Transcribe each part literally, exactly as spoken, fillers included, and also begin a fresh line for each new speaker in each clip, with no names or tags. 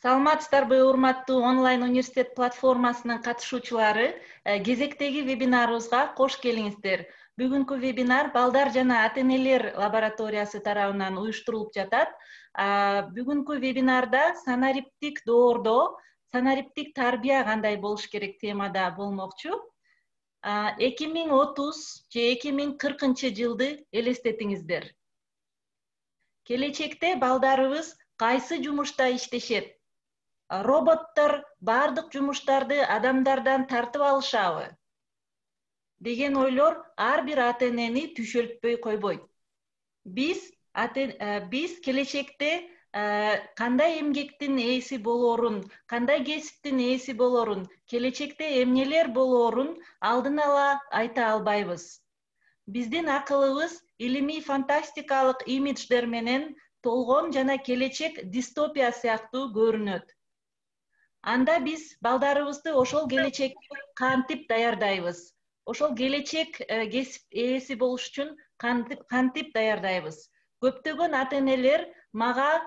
Саламатсыздарбы, урматтуу онлайн университет платформасынын катышуучулары, кезектеги вебинарыбызга кош келиңиздер. Бүгүнкү вебинар балдар жана ата-энелер лабораториясы тарабынан уюштурулуп жатат. Бүгүнкү вебинарда санариптик доордоо, санариптик тарбия кандай болуш керек темада болмокчу. эки миң отуз же эки миң кыркынчы жылды элестетиңиздер. Келечекте балдарыбыз кайсы жумушта иштешет? Роботтор бардык жумуштарды адамдардан тартып алышабы? Деген ойлор ар бир ата-энени түшөлтпөй койбойт. Биз биз келечекте кандай эмгектин ээси болоорун, кандай кесиптин ээси болоорун, келечекте эмнелер болоорун алдын ала айта албайбыз. Биздин акылыбыз илимий фантастикалык имидждер менен толгон жана келечек дистопия сыяктуу көрүнөт. Анда биз балдарыбызды ошол келечекке кантип даярдайбыз? Ошол келечек кесип ээси болуш үчүн кантип даярдайбыз? Көптөгөн ата-энелер мага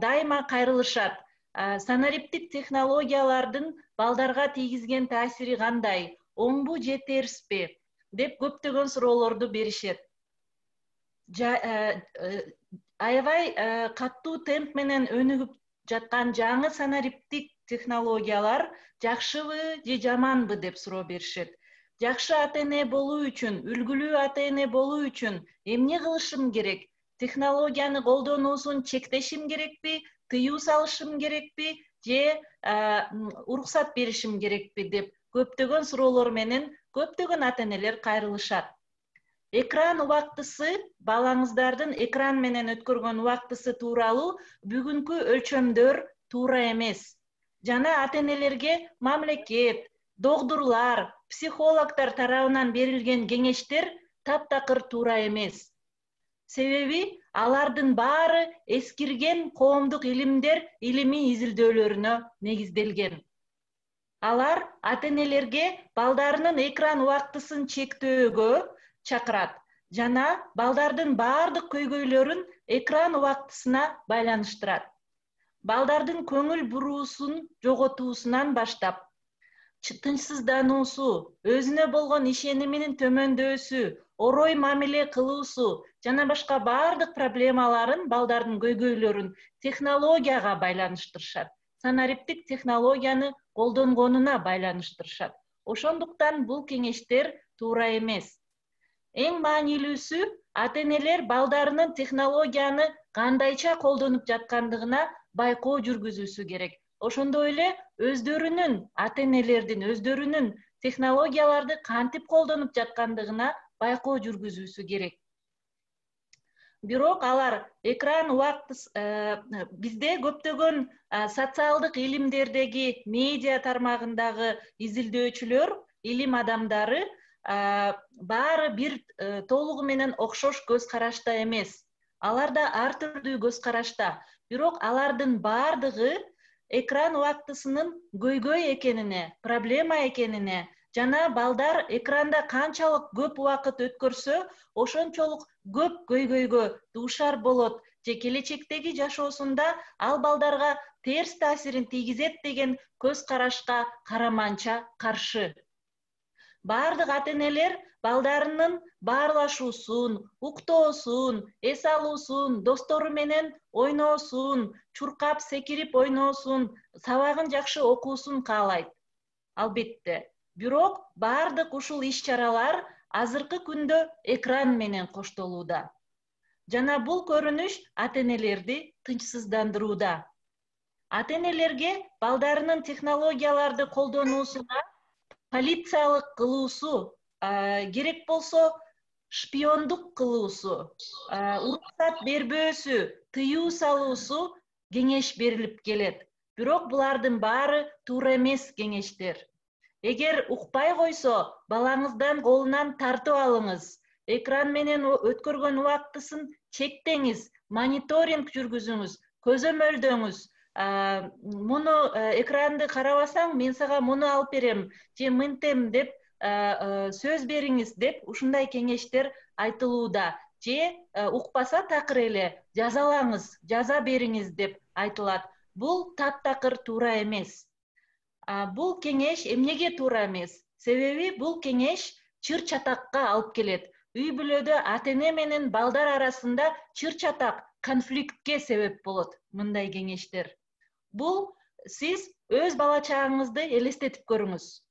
дайыма кайрылышат. Санариптик технологиялардын балдарга тийгизген таасири кандай? Оңбу же терспи? Деп көптөгөн суроолорду беришет. Аябай каттуу темп менен өнүгүп жаткан жаңы санариптик технологиялар жакшыбы же жаманбы деп суроо беришет. Жакшы ата-эне болуу үчүн, үлгүлүү ата-эне болуу үчүн эмне кылышым керек? Технологияны колдонуусун чектешим керекпи, тыюу салышым керекпи же уруксат беришим керекпи деп көптөгөн суроолор менен көптөгөн ата-энелер кайрылышат. Экран убактысы, балаңыздардын экран менен өткөргөн убактысы тууралуу бүгүнкү өлчөмдөр туура эмес. Жана ата-энелерге мамлекет, докторлор, психологдор тарабынан берилген кеңештер таптакыр туура эмес. Себеби алардын баары эскирген коомдук илимдер илимий изилдөөлөрүнө негизделген. Алар ата-энелерге балдарынын экран убактысын чектөөгө чакырат жана балдардын баардык көйгөйлөрүн экран убактысына байланыштырат. Балдардын көңүл буруусун жоготуусунан баштап, тынчсыздануусу, өзүнө болгон ишениминин төмөндөсү, орой мамиле кылуусу жана башка баардык проблемаларын, балдардын көйгөйлөрүн технологияга байланыштырышат. Санариптик технологияны колдонгонуна байланыштырышат. Ошондуктан бул кеңештер туура эмес. Эң маанилүүсү ата-энелер балдарынын технологияны кандайча колдонуп жаткандыгына байкоо жүргүзүүсү керек. Ошондой эле өздөрүнүн ата-энелердин өздөрүнүн технологияларды кантип колдонуп жаткандыгына байкоо жүргүзүүсү керек. Бирок алар экран убактысы бизде көптөгөн социалдык илимдердеги медиа тармагындагы изилдөөчүлөр, илим адамдары баары бир толугу менен окшош көз карашта эмес. Алар да ар түрдүү көз карашта. Бирок алардын баардыгы экран убактысынын көйгөй экенине, проблема экенине жана балдар экранда канчалык көп убакыт өткөрсө, ошончолук көп көйгөйгө дуушар болот же келечектеги жашоосунда ал балдарга терс таасирин тийгизет деген көз карашка караманча каршы. Бардык ата-энелер балдарынын баарлашуусун, уктоосун, эс алуусун, достору менен ойноосун, чуркап секирип ойноосун, сабагын жакшы окуусун каалайт. Албетте. Бирок бардык ушул иш-чаралар азыркы күндө экран менен коштолууда. Жана бул көрүнүш ата-энелерди тынчсыздандырууда. Ата-энелерге балдарынын технологияларды колдонуусуна полициялык кылуусу, керек болсо шпиондук кылуусу, уруксат бербөөсү, тыюу салуусу кеңеш берилип келет. Бирок булардын баары туура эмес кеңештер. Эгер укпай койсо, балаңыздан колунан тартып алыңыз. Экран менен өткөргөн убактысын чектеңиз, мониторинг жүргүзүңүз, көзөмөлдөңүз. Муну экранды карабасаң, мен сага муну алып берем, же мынтем деп сөз бериңиз деп ушундай кеңештер айтылууда. Же укпаса такыр эле жазалаңыз, жаза бериңиз деп айтылат. Бул таптакыр туура эмес. Бул кеңеш эмнеге туура эмес? Себеби бул кеңеш чыр чатакка алып келет. Үй бүлөдө ата-эне менен балдар арасында чыр чатак, конфликтке себеп болот мындай кеңештер. Бул сиз өз бала чагыңызды элестетип көрүңүз.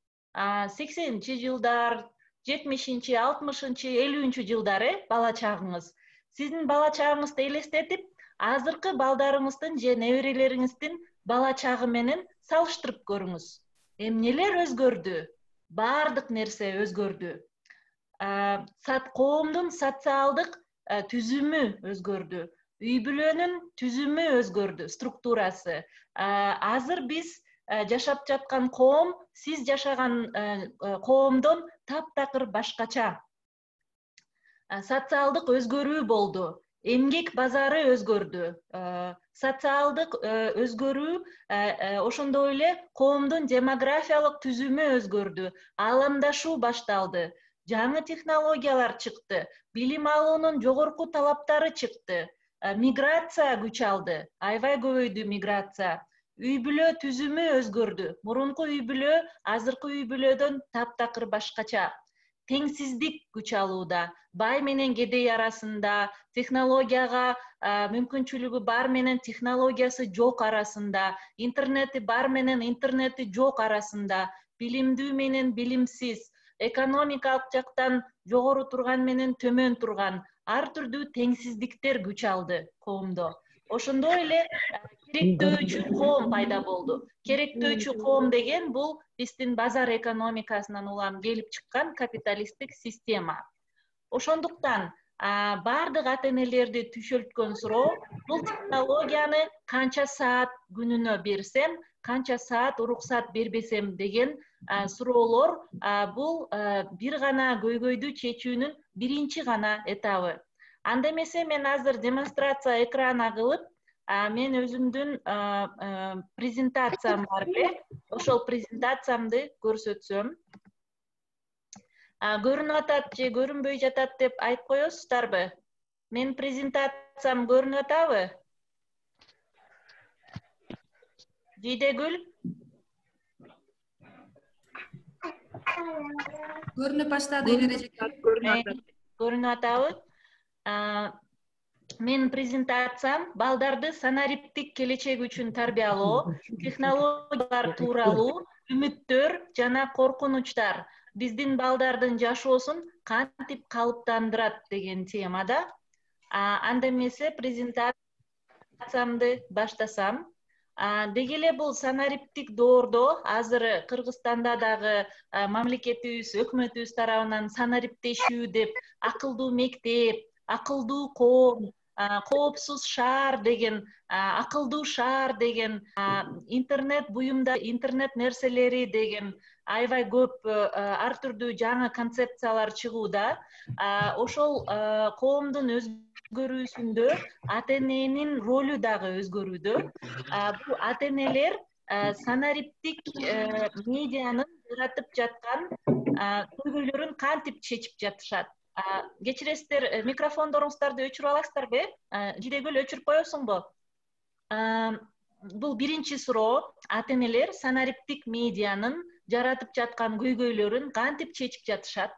сексенинчи жылдар, жетимишинчи, алтымышынчы, элүүнчү жылдары бала чагыңыз. Сиздин бала чагыңызды элестетип, азыркы балдарыңыздын же неберелериңиздин бала чагы менен салыштырып көрүңүз. Эмнелер өзгөрдү? Бардык нерсе өзгөрдү. Коомдун социалдык түзүмү өзгөрдү. Үй бүлөнүн түзүмү өзгөрдү, структурасы. Азыр биз жашап жаткан коом, сиз жашаган коомдон таптакыр башкача. Социалдык өзгөрүү болду. Эмгек базары өзгөрдү. Социалдык өзгөрүү, ошондой эле коомдун демографиялык түзүмү өзгөрдү. Ааламдашуу башталды. Жаңы технологиялар чыкты. Билим алуунун жогорку талаптары чыкты. Миграция күч алды. Аябай көбөйдү миграция. Үй бүлө түзүмү өзгөрдү. Мурунку үй бүлө азыркы үй бүлөдөн таптакыр башкача. Теңсиздик күч алууда. Бай менен кедей арасында, технологияга мүмкүнчүлүгү бар менен технологиясы жок арасында, интернети бар менен интернети жок арасында, билимдүү менен билимсиз, экономикалык жактан жогору турган менен төмөн турган ар түрдүү теңсиздиктер күч алды коомдо. Ошондой эле керектөөчү коом пайда болду. Керектөөчү коом деген бул биздин базар экономикасынан улам келип чыккан капиталисттик система. Ошондуктан бардык ата-энелерди түшөлткөн суроо, бул технологияны канча саат күнүнө берсем, канча саат уруксат бербесем деген суроолор, бул бир гана көйгөйдү чечүүнүн биринчи гана этабы. Анда эмесе мен азыр демонстрация экрана кылып, мен өзүмдүн презентациям бар эле, ошол презентациямды көрсөтсөм. Көрүнүп атат же көрүнбөй жатат деп айтып коесуздарбы? Мен презентациям көрүнүп атабы? Жидегүл?
Көрүнүп баштады эле.
Көрүнүп атабы? Мен презентациям балдарды санариптик келечек үчүн тарбиялоо, технологиялар тууралуу үмүттөр жана коркунучтар биздин балдардын жашоосун кантип калыптандырат деген темада. Анда эмесе презентациямды баштасам. Деги эле бул санариптик доордо азыр Кыргызстанда дагы мамлекетибиз, өкмөтүбүз тарабынан санариптешүү деп акылдуу мектеп, акылдуу коом, коопсуз шаар деген, акылдуу шаар деген, интернет буюмда интернет нерселери деген аябай көп ар түрдүү жаңы концепциялар чыгууда. Ошол коомдун өзгөрүүсүндө ата-эненин ролу дагы өзгөрүүдө. Бул ата-энелер санариптик медианын жаратып жаткан көйгөйлөрүн кантип чечип жатышат? Кечиресиздер, микрофондоруңуздарды өчүрүп аласыздарбы? Жидегүл, өчүрүп коесуңбу? Бул биринчи суроо. Ата-энелер санариптик медианын жаратып жаткан көйгөйлөрүн кантип чечип жатышат?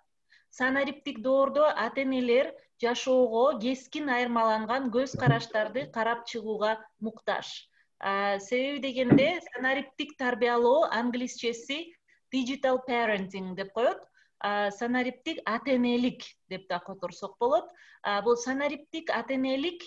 Санариптик доордо ата-энелер жашоого кескин айырмаланган көз караштарды карап чыгууга муктаж. Себеби дегенде санариптик тарбиялоо англисчеси digital parenting деп коет. Санариптик ата-энелик деп да которсок болот. Бул санариптик ата-энелик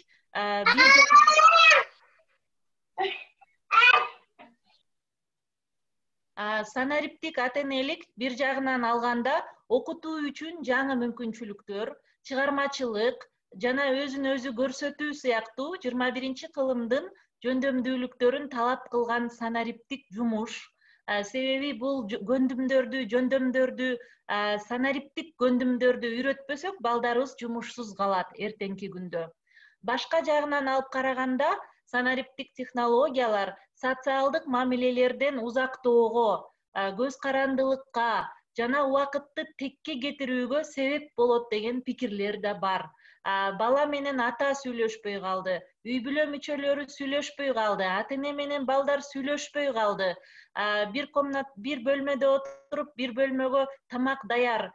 Санариптик ата-энелик бир жагынан алганда окутуу үчүн жаңы мүмкүнчүлүктөр, чыгармачылык жана өзүн өзү көрсөтүү сыяктуу жыйырма биринчи кылымдын жөндөмдүүлүктөрүн талап кылган санариптик жумуш. Себеби бул көндүмдөрдү, жөндөмдөрдү, санариптик көндүмдөрдү үйрөтпөсөк, балдарыбыз жумушсуз калат эртеңки күндө. Башка жагынан алып караганда, санариптик технологиялар социалдык мамилелерден узактоого, көз карандылыкка жана убакытты текке кетирүүгө себеп болот деген пикирлер да бар. Бала менен ата сүйлөшпөй калды, үй бүлө мүчөлөрү сүйлөшпөй калды, ата эне менен балдар сүйлөшпөй калды. Бир комнат, бир бөлмөдө отуруп, бир бөлмөгө тамак даяр,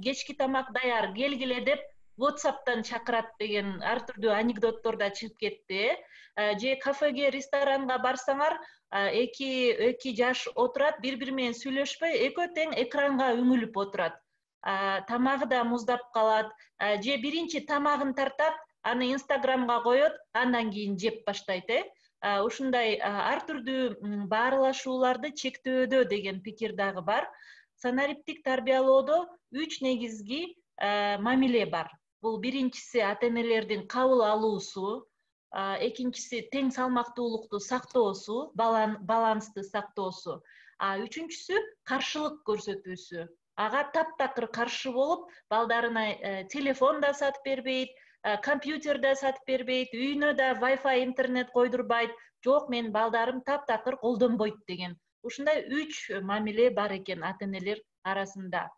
кечки тамак даяр, келгиле деп WhatsApp'тан чакырат деген ар түрдүү анекдоттор да чыгып кетти. Же кафеге, ресторанга барсаңар, эки эки жаш отурат, бири-бири менен сүйлөшпөй, экөө тең экранга үңүлүп отурат. Тамагы да муздап калат, же биринчи тамагын тартат, аны Инстаграмга коет, андан кийин жеп баштайт, э. Ушундай ар түрдүү баарлашууларды чектөөдө деген пикир дагы бар. Санариптик тарбиялоодо үч негизги мамиле бар. Бул биринчиси ата энелердин кабыл алуусу, экинчиси тең салмактуулукту сактоосу, балансты сактоосу, үчүнчүсү каршылык көрсөтүүсү. Ага таптакыр каршы болуп, балдарына телефон да сатып бербейт, компьютер да сатып бербейт, үйүнө да Wi-Fi интернет койдурбайт, жок мен балдарым таптакыр колдонбойт деген. Ушундай үч мамиле бар экен ата энелер арасында.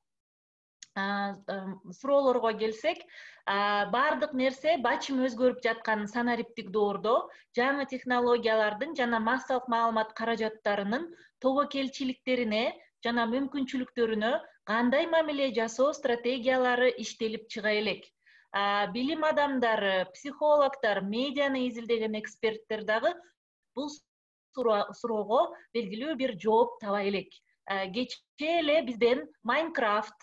Суроолорго келсек, бардык нерсе бачым өзгөрүп жаткан санариптик доордо жаңы технологиялардын жана массалык маалымат каражаттарынын тобокелчиликтерине жана мүмкүнчүлүктөрүнө кандай мамиле жасоо стратегиялары иштелип чыга элек. Билим адамдары, психологдор, медианы изилдеген эксперттер дагы бул суроого белгилүү бир жооп таба элек. Кечээ эле бизден Minecraft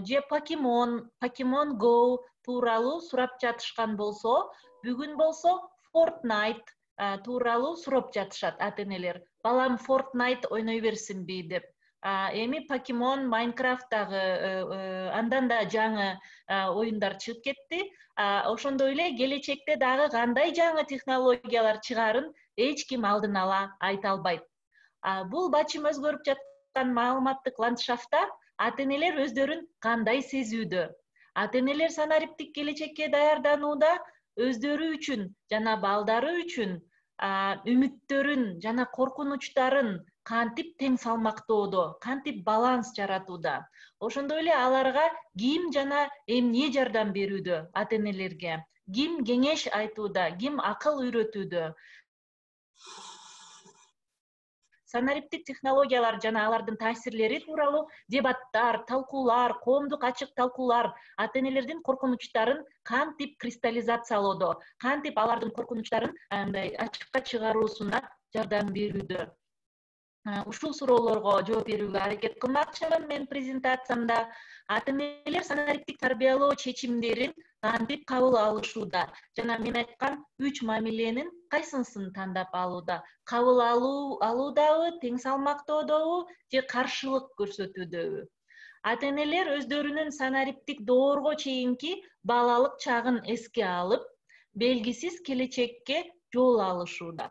же Pokemon, Pokemon Go тууралуу сурап жатышкан болсо, бүгүн болсо Fortnite тууралуу сурап жатышат ата энелер. Балам Fortnite ойной берсинби деп. Эми Pokemon, Minecraft дагы андан да жаңы оюндар чыгып кетти. Ошондой эле келечекте дагы кандай жаңы технологиялар чыгарын эч ким алдын ала айта албайт. Бул бачым өзгөрүп жаткан маалыматтык ландшафтта ата энелер өздөрүн кандай сезүүдө? Ата энелер санариптик келечекке даярданууда өздөрү үчүн жана балдары үчүн үмүттөрүн жана коркунучтарын кантип тең салмактоодо, кантип баланс жаратууда? Ошондой эле аларга ким жана эмне жардам берүүдө ата энелерге? Ким кеңеш айтууда, ким акыл үйрөтүүдө? Санариптик технологиялар жана алардын таасирлери тууралуу дебаттар, талкуулар, коомдук ачык талкуулар ата энелердин коркунучтарын кантип кристаллизациялоодо, кантип алардын коркунучтарын андай ачыкка чыгаруусуна жардам берүүдө? Ушул суроолорго жооп берүүгө аракет кылмакчымын мен презентациямда. Ата энелер санариптик тарбиялоо чечимдерин кантип кабыл алышууда жана мен айткан үч мамиленин кайсынысын тандап алууда? Кабыл алуу алуудабы, тең салмактоодобу же каршылык көрсөтүүдөбү? Ата энелер өздөрүнүн санариптик доорго чейинки балалык чагын эске алып, белгисиз келечекке жол алышууда.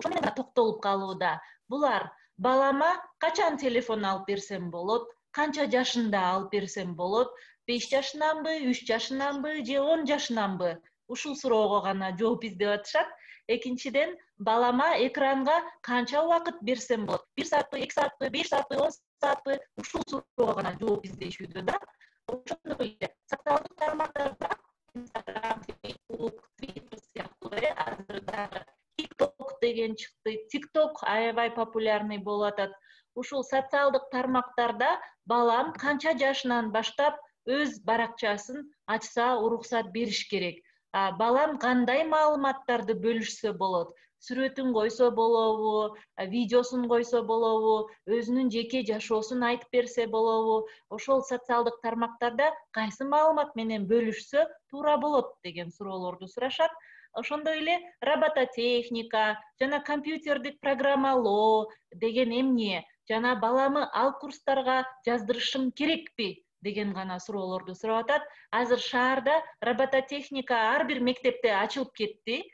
Ошо менен токтолуп калууда. Булар: балама качан телефон алып берсем болот? Канча жашында алып берсем болот? беш жашынанбы, үч жашынанбы же он жашынанбы? Ушул суроого гана жооп издеп атышат. Экинчиден, балама экранга канча убакыт берсем болот? бир саатпы, эки саатпы, беш саатпы, он саатпы? Ушул суроого гана жооп издешүүдө да. Ошондой эле социалдык тармактарда Instagram, Facebook, Twitter сыяктуу азыр дагы TikTok деген чыкты. TikTok аябай популярный болуп атат. Ушул социалдык тармактарда балам канча жашынан баштап өз баракчасын ачса уруксат бериш керек? Балам кандай маалыматтарды бөлүшсө болот? Сүрөтүн койсо болобу, видеосун койсо болобу, өзүнүн жеке жашоосун айтып берсе болобу? Ошол социалдык тармактарда кайсы маалымат менен бөлүшсө туура болот деген суроолорду сурашат. Ошондой эле робототехника жана компьютердик программалоо деген эмне? Жана баламы ал курстарга жаздырышым керекпи деген гана суроолорду сурап атат. Азыр шаарда робототехника ар бир мектепте ачылып кетти.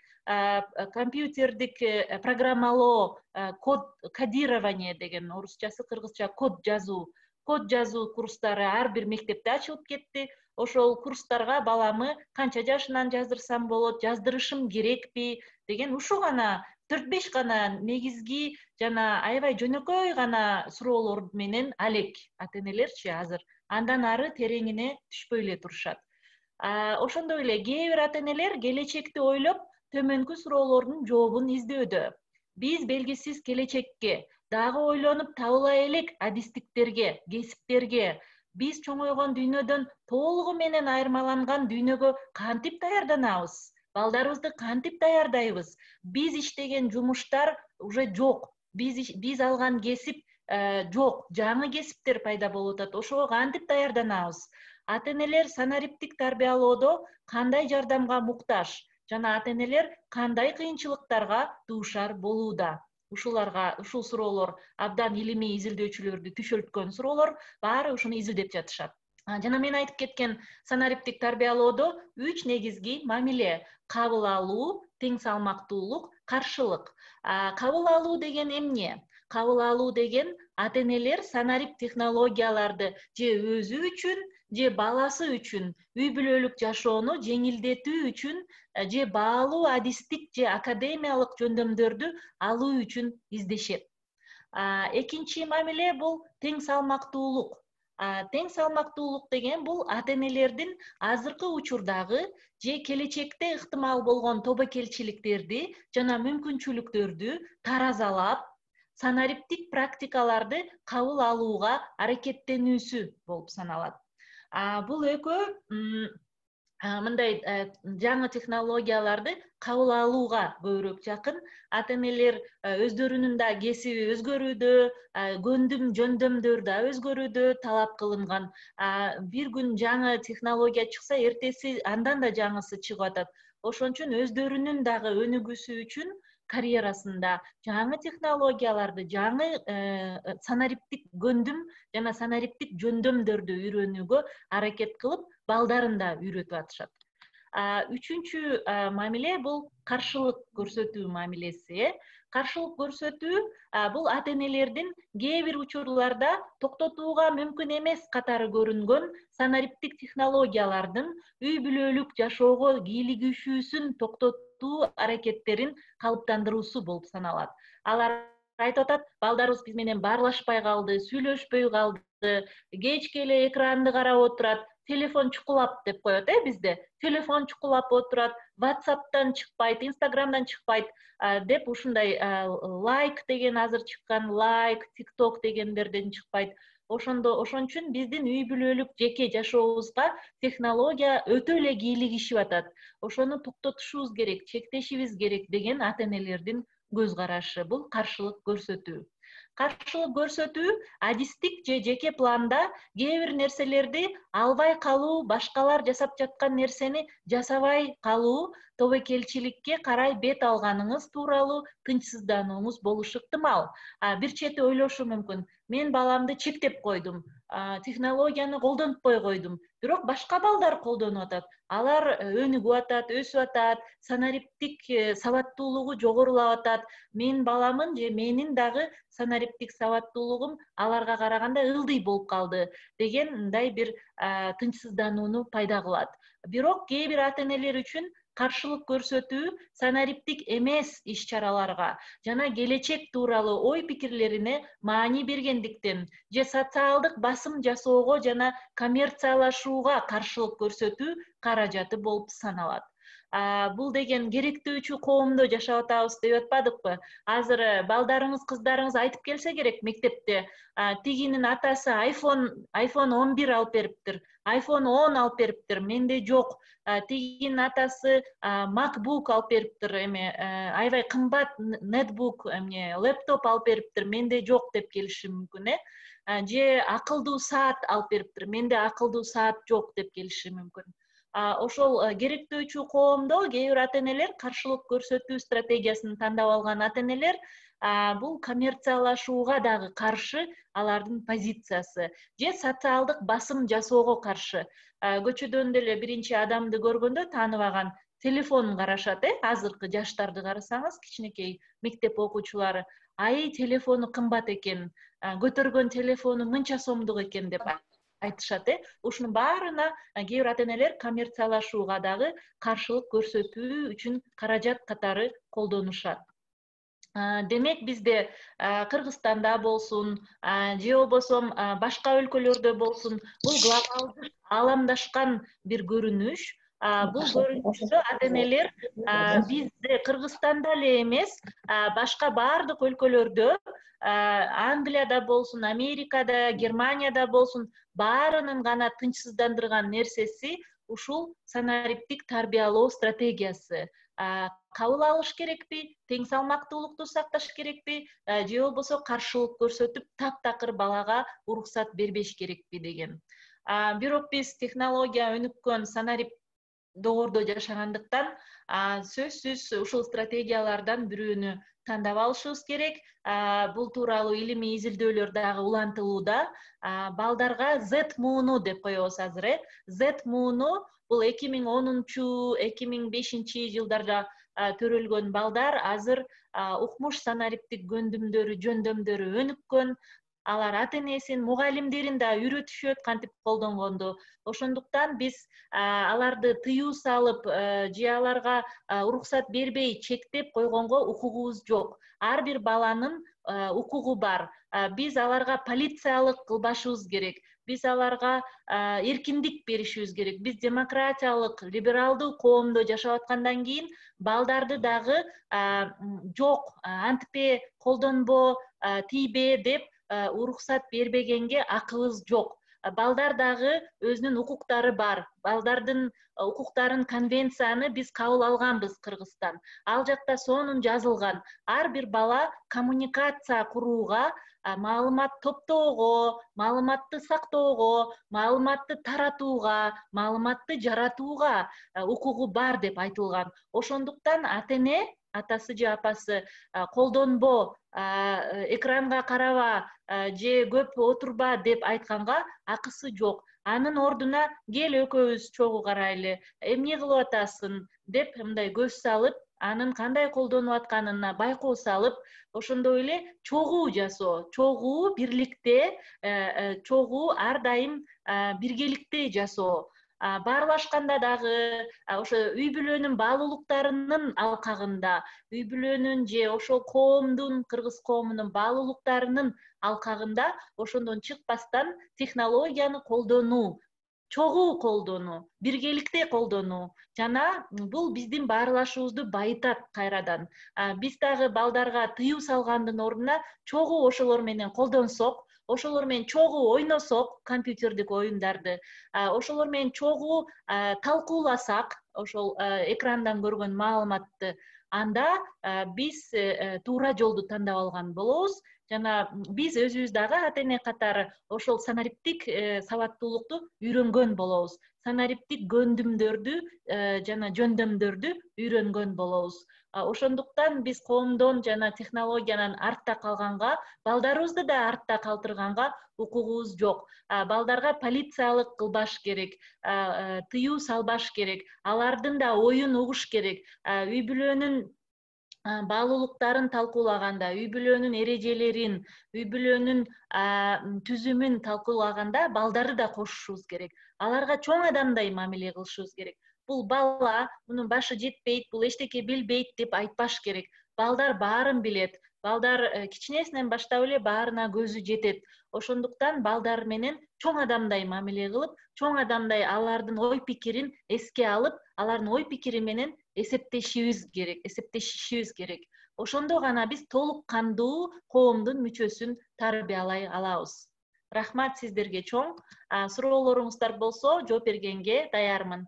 Компьютердик программалоо, код кодирование деген орусчасы, кыргызча код жазуу, код жазуу курстары ар бир мектепте ачылып кетти. Ошол курстарга баламы канча жашынан жаздырсам болот, жаздырышым керекпи деген ушу гана төрт беш гана негизги жана аябай жөнөкөй гана суроолор менен алек ата энелерчи азыр. Андан ары тереңине түшпөй эле турушат. Ошондой эле кээ бир ата энелер келечекти ойлоп төмөнкү суроолордун жообун издөөдө. Биз белгисиз келечекке, дагы ойлонуп табыла элек адистиктерге, кесиптерге, биз чоңойгон дүйнөдөн толугу менен айырмаланган дүйнөгө кантип даярданабыз? Балдарыбызды кантип даярдайбыз? Биз иштеген жумуштар уже жок. Биз биз алган кесип жок. Жаңы кесиптер пайда болуп атат. Ошого кантип даярданабыз? Ата энелер санариптик тарбиялоодо кандай жардамга муктаж? Жана ата энелер кандай кыйынчылыктарга дуушар болууда? Ушуларга, ушул суроолор абдан илимий изилдөөчүлөрдү түшөлткөн суроолор, баары ушуну изилдеп жатышат. Жана мен айтып кеткен санариптик тарбиялоодо үч негизги мамиле: кабыл алуу, тең салмактуулук, каршылык. Кабыл алуу деген эмне? Кабыл алуу деген ата энелер санарип технологияларды же өзү үчүн, же баласы үчүн үй бүлөлүк жашоону жеңилдетүү үчүн, же баалуу адистик же академиялык жөндөмдөрдү алуу үчүн издешет. Экинчи мамиле бул тең салмактуулук. Тең салмактуулук деген бул ата энелердин азыркы учурдагы же келечекте ыктымал болгон тобокелчиликтерди жана мүмкүнчүлүктөрдү таразалап, санариптик практикаларды кабыл алууга аракеттенүүсү болуп саналат. Бул экөө мындай жаңы технологияларды кабыл алууга көбүрөөк жакын. Ата энелер өздөрүнүн да кесиби өзгөрүүдө, көндүм жөндөмдөр да өзгөрүүдө талап кылынган. Бир күн жаңы технология чыкса, эртеси андан да жаңысы чыгып атат. Ошон үчүн өздөрүнүн дагы өнүгүүсү үчүн карьерасында жаңы технологияларды, жаңы санариптик көндүм жана санариптик жөндөмдөрдү үйрөнүүгө аракет кылып, балдарын да үйрөтүп атышат. Үчүнчү мамиле бул каршылык көрсөтүү мамилеси. Каршылык көрсөтүү бул ата энелердин кээ бир учурларда токтотууга мүмкүн эмес катары көрүнгөн санариптик технологиялардын үй бүлөлүк жашоого кийлигишүүсүн токтотуу аракеттерин калыптандыруусу болуп саналат. Алар айтып атат: балдарыбыз биз менен баарлашпай калды, сүйлөшпөй калды, кечке эле экранды карап отурат, телефон чукулап деп коет э бизде. Телефон чукулап отурат, WhatsApp'тан чыкпайт, Instagram'дан чыкпайт деп ушундай лайк деген азыр чыккан, лайк, TikTok дегендерден чыкпайт. Ошондо ошон үчүн биздин үй бүлөлүк жеке жашообузга технология өтө эле кийлигишип атат. Ошону токтотушубуз керек, чектешибиз керек деген ата энелердин көз карашы. Бул каршылык көрсөтүү. Каршылык көрсөтүү адистик же жеке планда кээ бир нерселерди албай калуу, башкалар жасап жаткан нерсени жасабай калуу, тобокелчиликке карай бет алганыңыз тууралуу тынчсызданууңуз болушу ыктымал. Бир чети ойлошу мүмкүн: мен баламды чектеп койдум, технологияны колдонтпой койдум, бирок башка балдар колдонуп атат. Алар өнүгүп атат, өсүп атат, санариптик сабаттуулугу жогорулап атат. Мен баламын же менин дагы санариптик сабаттуулугум аларга караганда ылдый болуп калды деген мындай бир тынчсызданууну пайда кылат. Бирок кээ бир ата энелер үчүн каршылык көрсөтүү санариптик эмес иш-чараларга жана келечек тууралуу ой пикирлерине маани бергендиктен же социалдык басым жасоого жана коммерциялашууга каршылык көрсөтүү каражаты болуп саналат. Бул деген керектөөчү коомдо жашап атабыз деп атпадыкпы? Азыр балдарыңыз, кыздарыңыз айтып келсе керек мектепте: тигинин атасы iPhone iPhone он бир алып бериптир, iPhone он алып бериптир, менде жок. Тигинин атасы MacBook алып бериптир, эме аябай кымбат нетбук, эмне, лэптоп алып бериптир, менде жок деп келиши мүмкүн, э? Же акылдуу саат алып бериптир, менде акылдуу саат жок деп келиши мүмкүн. Ошол керектөөчү коомдо кээ бир ата энелер, каршылык көрсөтүү стратегиясын тандап алган ата энелер, бул коммерциялашууга дагы каршы алардын позициясы, же социалдык басым жасоого каршы. Көчөдөн деле биринчи адамды көргөндө тааныбаган телефонун карашат, э? Азыркы жаштарды карасаңыз, кичинекей мектеп окуучулары: ай, телефону кымбат экен, көтөргөн телефону мынча сомдук экен деп айтышат, э? Ушунун баарына кээ бир ата энелер коммерциялашууга дагы каршылык көрсөтүү үчүн каражат катары колдонушат. Демек бизде Кыргызстанда болсун же болбосо башка өлкөлөрдө болсун бул глобалдык ааламдашкан бир көрүнүш. Бул көрүнүштө ата энелер бизде Кыргызстанда эле эмес, башка баардык өлкөлөрдө, Англияда болсун, Америкада, Германияда болсун, баарынын гана тынчсыздандырган нерсеси ушул санариптик тарбиялоо стратегиясы. Кабыл алыш керекпи, тең салмактуулукту сакташ керекпи, же болбосо каршылык көрсөтүп, таптакыр балага уруксат бербеш керекпи деген. Бирок биз технология өнүккөн санарип доордо жашагандыктан сөзсүз ушул стратегиялардан бирөөнү тандап алышыбыз керек. Бул тууралуу илимий изилдөөлөр дагы улантылууда. Балдарга Z мууну деп коебуз азыр, э. Z мууну бул эки миң онунчу, эки миң бешинчи жылдарда төрөлгөн балдар азыр укмуш санариптик көндүмдөрү, жөндөмдөрү өнүккөн. Алар ата энесин, мугалимдерин да үйрөтүшөт кантип колдонгонду. Ошондуктан биз аларды тыюу салып же аларга уруксат бербей чектеп койгонго укугубуз жок. Ар бир баланын укугу бар. Биз аларга полициялык кылбашыбыз керек. Биз аларга эркиндик беришибиз керек. Биз демократиялык, либералдуу коомдо жашап аткандан кийин балдарды дагы жок, антпе, колдонбо, тийбе деп уруксат бербегенге акыбыз жок. Балдар дагы өзүнүн укуктары бар. Балдардын укуктарын конвенцияны биз кабыл алганбыз Кыргызстан. Ал жакта сонун жазылган. Ар бир бала коммуникация курууга, маалымат топтоого, маалыматты сактоого, маалыматты таратууга, маалыматты жаратууга укугу бар деп айтылган. Ошондуктан ата эне, атасы же апасы колдонбо, экранга караба же көп отурба деп айтканга акысы жок. Анын ордуна кел экөөбүз чогуу карайлы, эмне кылып атасың деп мындай көз салып, анын кандай колдонуп атканына байкоо салып, ошондой эле чогуу жасоо, чогуу бирликте, чогуу ар дайым биргеликте жасоо. Баарлашканда дагы ошо үй бүлөнүн баалуулуктарынын алкагында, үй бүлөнүн же ошол коомдун, кыргыз коомунун баалуулуктарынын алкагында ошондон чыкпастан технологияны колдонуу, чогуу колдонуу, биргеликте колдонуу жана бул биздин баарлашуубузду байытат кайрадан. Биз дагы балдарга тыюу салгандын ордуна чогуу ошолор менен колдонсок, ошолор менен чогуу ойносок компьютердик оюндарды, ошолор менен чогуу талкууласак ошол экрандан көргөн маалыматты, анда биз туура жолду тандап алган болобуз. Жана биз өзүбүз дагы ата эне катары ошол санариптик сабаттуулукту үйрөнгөн болобуз. Санариптик көндүмдөрдү жана жөндөмдөрдү үйрөнгөн болобуз. Ошондуктан биз коомдон жана технологиянан артта калганга, балдарыбызды да артта калтырганга укугубуз жок. Балдарга полициялык кылбаш керек, тыюу салбаш керек, алардын да оюн угуш керек. Үй бүлөнүн баалуулуктарын талкуулаганда, үй бүлөнүн эрежелерин, үй бүлөнүн түзүмүн талкуулаганда балдарды да кошушубуз керек. Аларга чоң адамдай мамиле кылышыбыз керек. Бул бала, мунун башы жетпейт, бул эчтеке билбейт деп айтпаш керек. Балдар баарын билет. Балдар кичинесинен баштап эле баарына көзү жетет. Ошондуктан балдар менен чоң адамдай мамиле кылып, чоң адамдай алардын ой пикирин эске алып, алардын ой пикири менен эсептешибиз керек, эсептешишибиз керек. Ошондо гана биз толук кандуу коомдун мүчөсүн тарбиялай алабыз. Рахмат сиздерге чоң. Суроолоруңуздар болсо, жооп бергенге даярмын.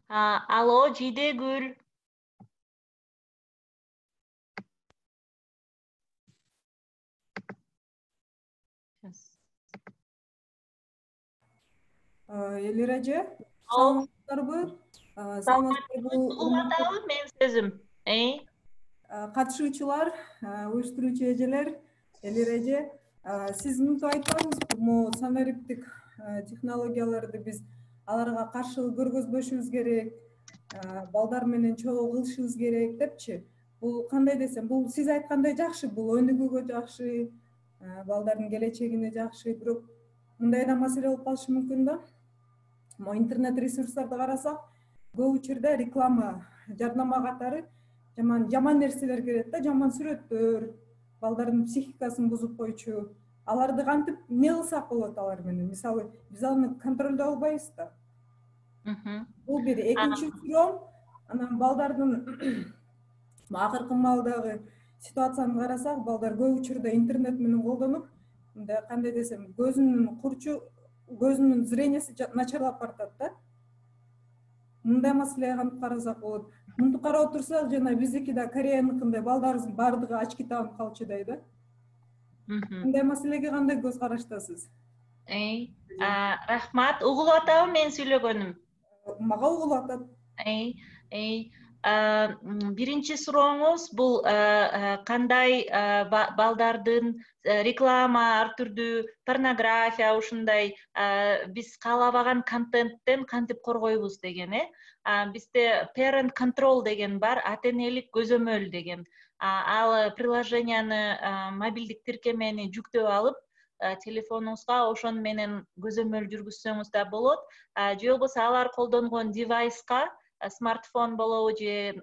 Алло, Жидегүл.
Элир эже, саламатсыздарбы? Саламатсыздарбы,
урматтуу мен сөзүм.
Катышуучулар, уюштуруучу эжелер, Элир эже, сиз мынтип айтпадыңызбы, могу санариптик технологияларды биз аларга каршылык көргөзбөшүбүз керек, балдар менен чогуу кылышыбыз керек депчи. Бул кандай десем, бул сиз айткандай жакшы, бул өнүгүүгө жакшы, балдардын келечегине жакшы, бирок мындай да маселе болуп калышы мүмкүн да. Могу интернет ресурстарды карасак, көп учурда реклама, жарнама катары жаман жаман нерселер келет да, жаман сүрөттөр, балдардын психикасын бузуп койчу. Аларды кантип эмне кылсак болот алар менен? Мисалы, биз аны контролдой албайбыз да. Бул бир. Экинчи суроом, анан балдардын акыркы маалдагы ситуацияны карасак, балдар көп учурда интернет менен колдонуп, мындай кандай десем, көзүнүн курчу, көзүнүн зрениясы начарлап баратат да. Мындай маселеге кантип карасак болот? Мынтип карап отурсак, жана биздики да Кореяныкындай балдарыбыздын баардыгы очки тагып калчудай да. Мындай маселеге кандай көз караштасыз?
Рахмат. Угулуп атабы мен сүйлөгөнүм?
Мага угулуп атат.
Биринчи сурооңуз бул кандай балдардын реклама, ар түрдүү порнография, ушундай биз каалабаган контенттен кантип коргойбуз деген, э? Бизде parent control деген бар, ата энелик көзөмөл деген. Ал приложенияны, мобилдик тиркемени жүктөп алып, телефонуңузга ошону менен көзөмөл жүргүзсөңүз да болот. Же болбосо алар колдонгон девайска, смартфон болобу же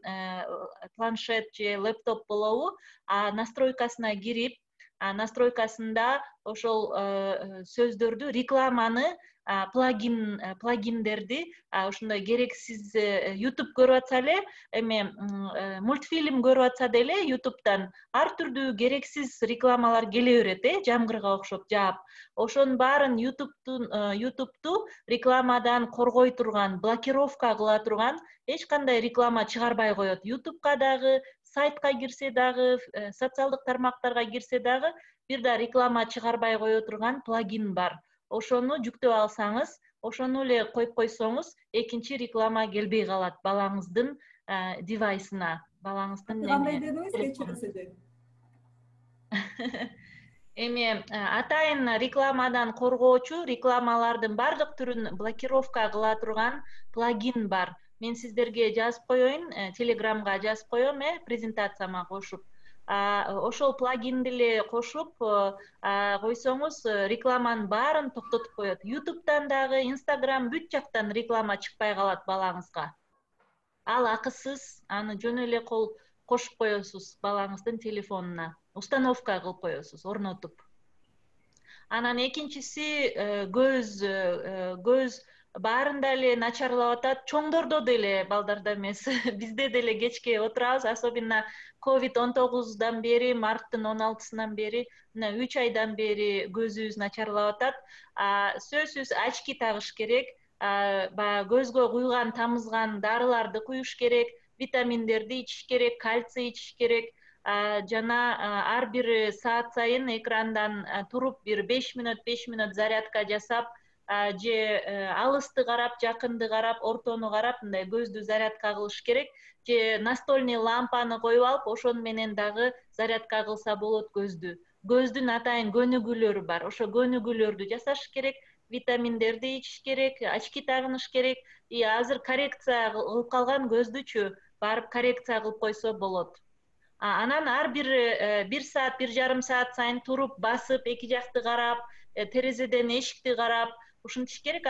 планшет же лэптоп болобу, настройкасына кирип, настройкасында ошол сөздөрдү, рекламаны, плагин плагиндерди, ошондой керексиз YouTube көрүп атса эле, эме мультфильм көрүп атса деле YouTube'дан ар түрдүү керексиз рекламалар келе берет, э, жамгырга окшоп жаап. Ошонун баарын YouTube'тун YouTube'ту рекламадан коргой турган, блокировка кыла турган эч кандай реклама чыгарбай коет. YouTube'ка дагы, сайтка кирсе дагы, социалдык тармактарга кирсе дагы бир да реклама чыгарбай кое турган плагин бар. Ошону жүктөп алсаңыз, ошону эле коюп койсоңуз, экинчи реклама келбей калат балаңыздын девайсына, балаңыздын эме.
Кандай дедиңиз, кечиресиз?
Эми атайын рекламадан коргоочу, рекламалардын бардык түрүн блокировка кыла турган плагин бар. Мен сиздерге жазып коеюн, Телеграмга жазып коем, э, презентацияма кошуп. Ошол плагинди эле кошуп койсоңуз, рекламанын баарын токтотуп коет. YouTube'дан дагы, Instagram бүт жактан реклама чыкпай калат балаңызга. Ал акысыз, аны жөн эле кол кошуп коесуз балаңыздын телефонуна. Установка кылып коесуз, орнотуп. Анан экинчиси көз, көз баарында эле начарлап атат, чоңдордо деле, балдарда эмес. Бизде деле кечке отурабыз, особенно ковид он тогуздан бери, марттын он алтысынан бери, мына үч айдан бери көзүбүз начарлап атат. Сөзсүз очки тагыш керек, баягы көзгө куйган, тамызган дарыларды куюш керек, витаминдерди ичиш керек, кальций ичиш керек. Жана ар бир саат сайын экрандан туруп бир беш мүнөт, беш мүнөт зарядка жасап, же алысты карап, жакынды карап, ортону карап, мындай көздү зарядка кылыш керек. Же настольный лампаны коюп алып, ошону менен дагы зарядка кылса болот көздү. Көздүн атайын көнүгүүлөрү бар. Ошо көнүгүүлөрдү жасаш керек, витаминдерди ичиш керек, очки тагыныш керек. И азыр коррекция кылып калган көздүчү барып коррекция кылып койсо болот. Анан ар бир бир саат, бир жарым саат сайын туруп, басып, эки жакты карап, терезеден эшикти карап, ушинтиш керек.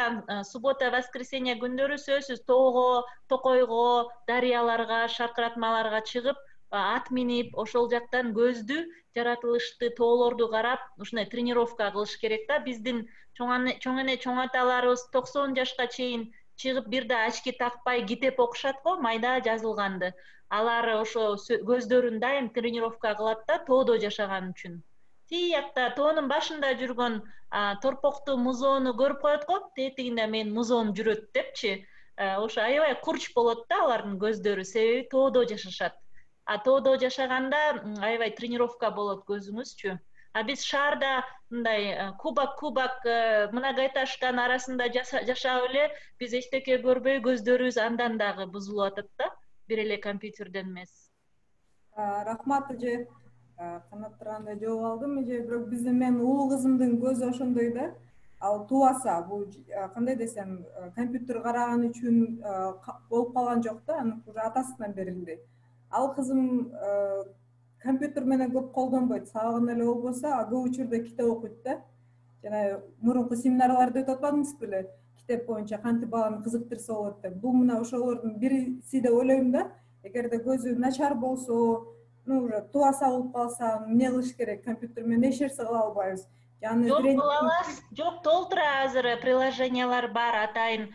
Суббота, воскресенье күндөрү сөзсүз тоого, токойго, дарыяларга, шаркыратмаларга чыгып, ат минип, ошол жактан көздү, жаратылышты, тоолорду карап, ушундай тренировка кылыш керек да. Биздин чоң эне чоң аталарыбыз токсон жашка чейин чыгып бир да очки такпай китеп окушат го, майда жазылганды. Алар ошо көздөрүн дайым тренировка кылат да, тоодо жашаган үчүн. Тиякта тоонун башында жүргөн торпокту, музоону көрүп коет го, тетигинде мен музоом жүрөт депчи. ошо аябай курч болот да алардын көздөрү, себеби тоодо жашашат. А тоодо жашаганда аябай тренировка болот көзүңүзчү. А биз шаарда мындай кубак кубак многоэтажканын арасында жашап эле биз эчтеке көрбөй көздөрүбүз андан дагы бузулуп атат да, бир эле компьютерден эмес.
Рахмат эже, канат тургандай жооп алдым эже. Бирок биздин менин улуу кызымдын көзү ошондой да. Ал тубаса, бул кандай десем, компьютер караган үчүн болуп калган жок да, аны уже атасынан берилди. Ал кызым компьютер менен көп колдонбойт, сабагында эле болбосо, а көп учурда китеп окуйт да. Жана мурунку семинарларды өтүп атпадыңыз беле? Китеп боюнча кантип баланы кызыктырса болот деп. Бул мына ошолордун бириси деп ойлойм да. Эгерде көзү начар болсо, ну уже тубаса болуп калса, эмне кылыш керек? Компьютер менен эч нерсе кыла албайбыз.
Жок, кыла аласыз. Жок, толтура азыр приложениялар бар, атайын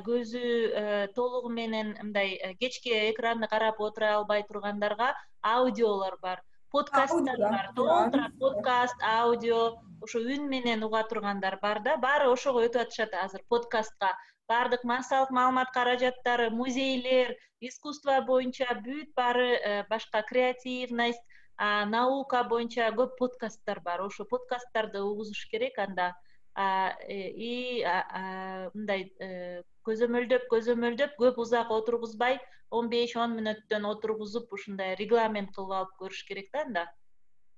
көзү толугу менен мындай кечки экранды карап отура албай тургандарга аудиолор бар, подкасттар бар, толтура подкаст, аудио, ошо үн менен уга тургандар бар да, баары ошого өтүп атышат азыр подкастка. Баардык массалык маалымат каражаттары, музейлер, искусство боюнча бүт баары, башка креативность, наука боюнча көп подкасттар бар. Ошо подкасттарды угузуш керек анда. И мындай көзөмөлдөп, көзөмөлдөп, көп узак отургузбай, он беш он мүнөттөн отургузуп, ушундай регламент кылып алып көрүш керек да анда.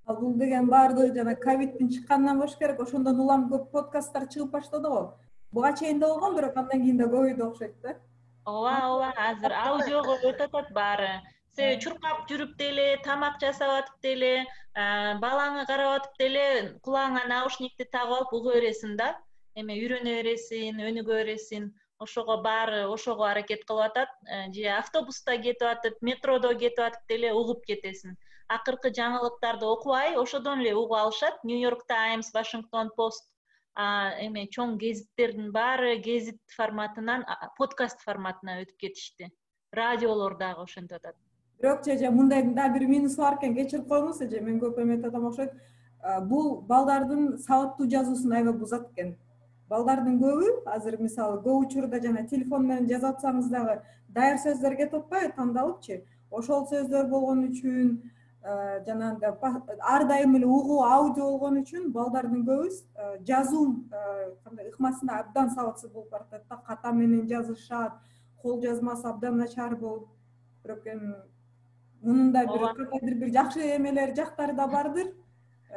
Бул деген баардыгы жана ковидтин чыкканынан болуш керек, ошондон улам көп подкасттар чыгып баштады го. Буга чейин да болгон, бирок андан кийин да көбөйдү окшойт да.
Ооба, ооба, азыр аудиого өтүп атат баары. Себеби чуркап жүрүп деле, тамак жасап атып деле, балаңы карап атып деле, кулагыңа наушникти тагып алып уга бересиң да. Эме үйрөнө бересиң, өнүгө бересиң. Ошого баары ошого аракет кылып атат. Же автобуста кетип атып, метродо кетип атып деле угуп кетесиң. Акыркы жаңылыктарды окубай, ошодон эле угуп алышат. New York Times, Washington Post, эме чоң гезиттердин баары гезит форматынан подкаст форматына өтүп кетишти. Радиолор дагы ошентип атат.
Бирок эже мындай да бир минусу бар экен, кечирип коюңуз эже, мен көп эметип атам окшойт. Бул балдардын сабаттуу жазуусун аябай бузат экен. Балдардын көбү азыр мисалы көп учурда жана телефон менен жазып атсаңыз дагы даяр сөздөр кетип атпайбы, тандалыпчы. Ошол сөздөр болгон үчүн жанагындай ар дайым эле угуу аудио болгон үчүн балдардын көбү жазуу кандай ыкмасында абдан сабатсыз болуп баратат да, ката менен жазышат, кол жазмасы абдан начар болуп. Бирок эми мунун да бир кандайдыр бир жакшы эмелери, жактары да бардыр.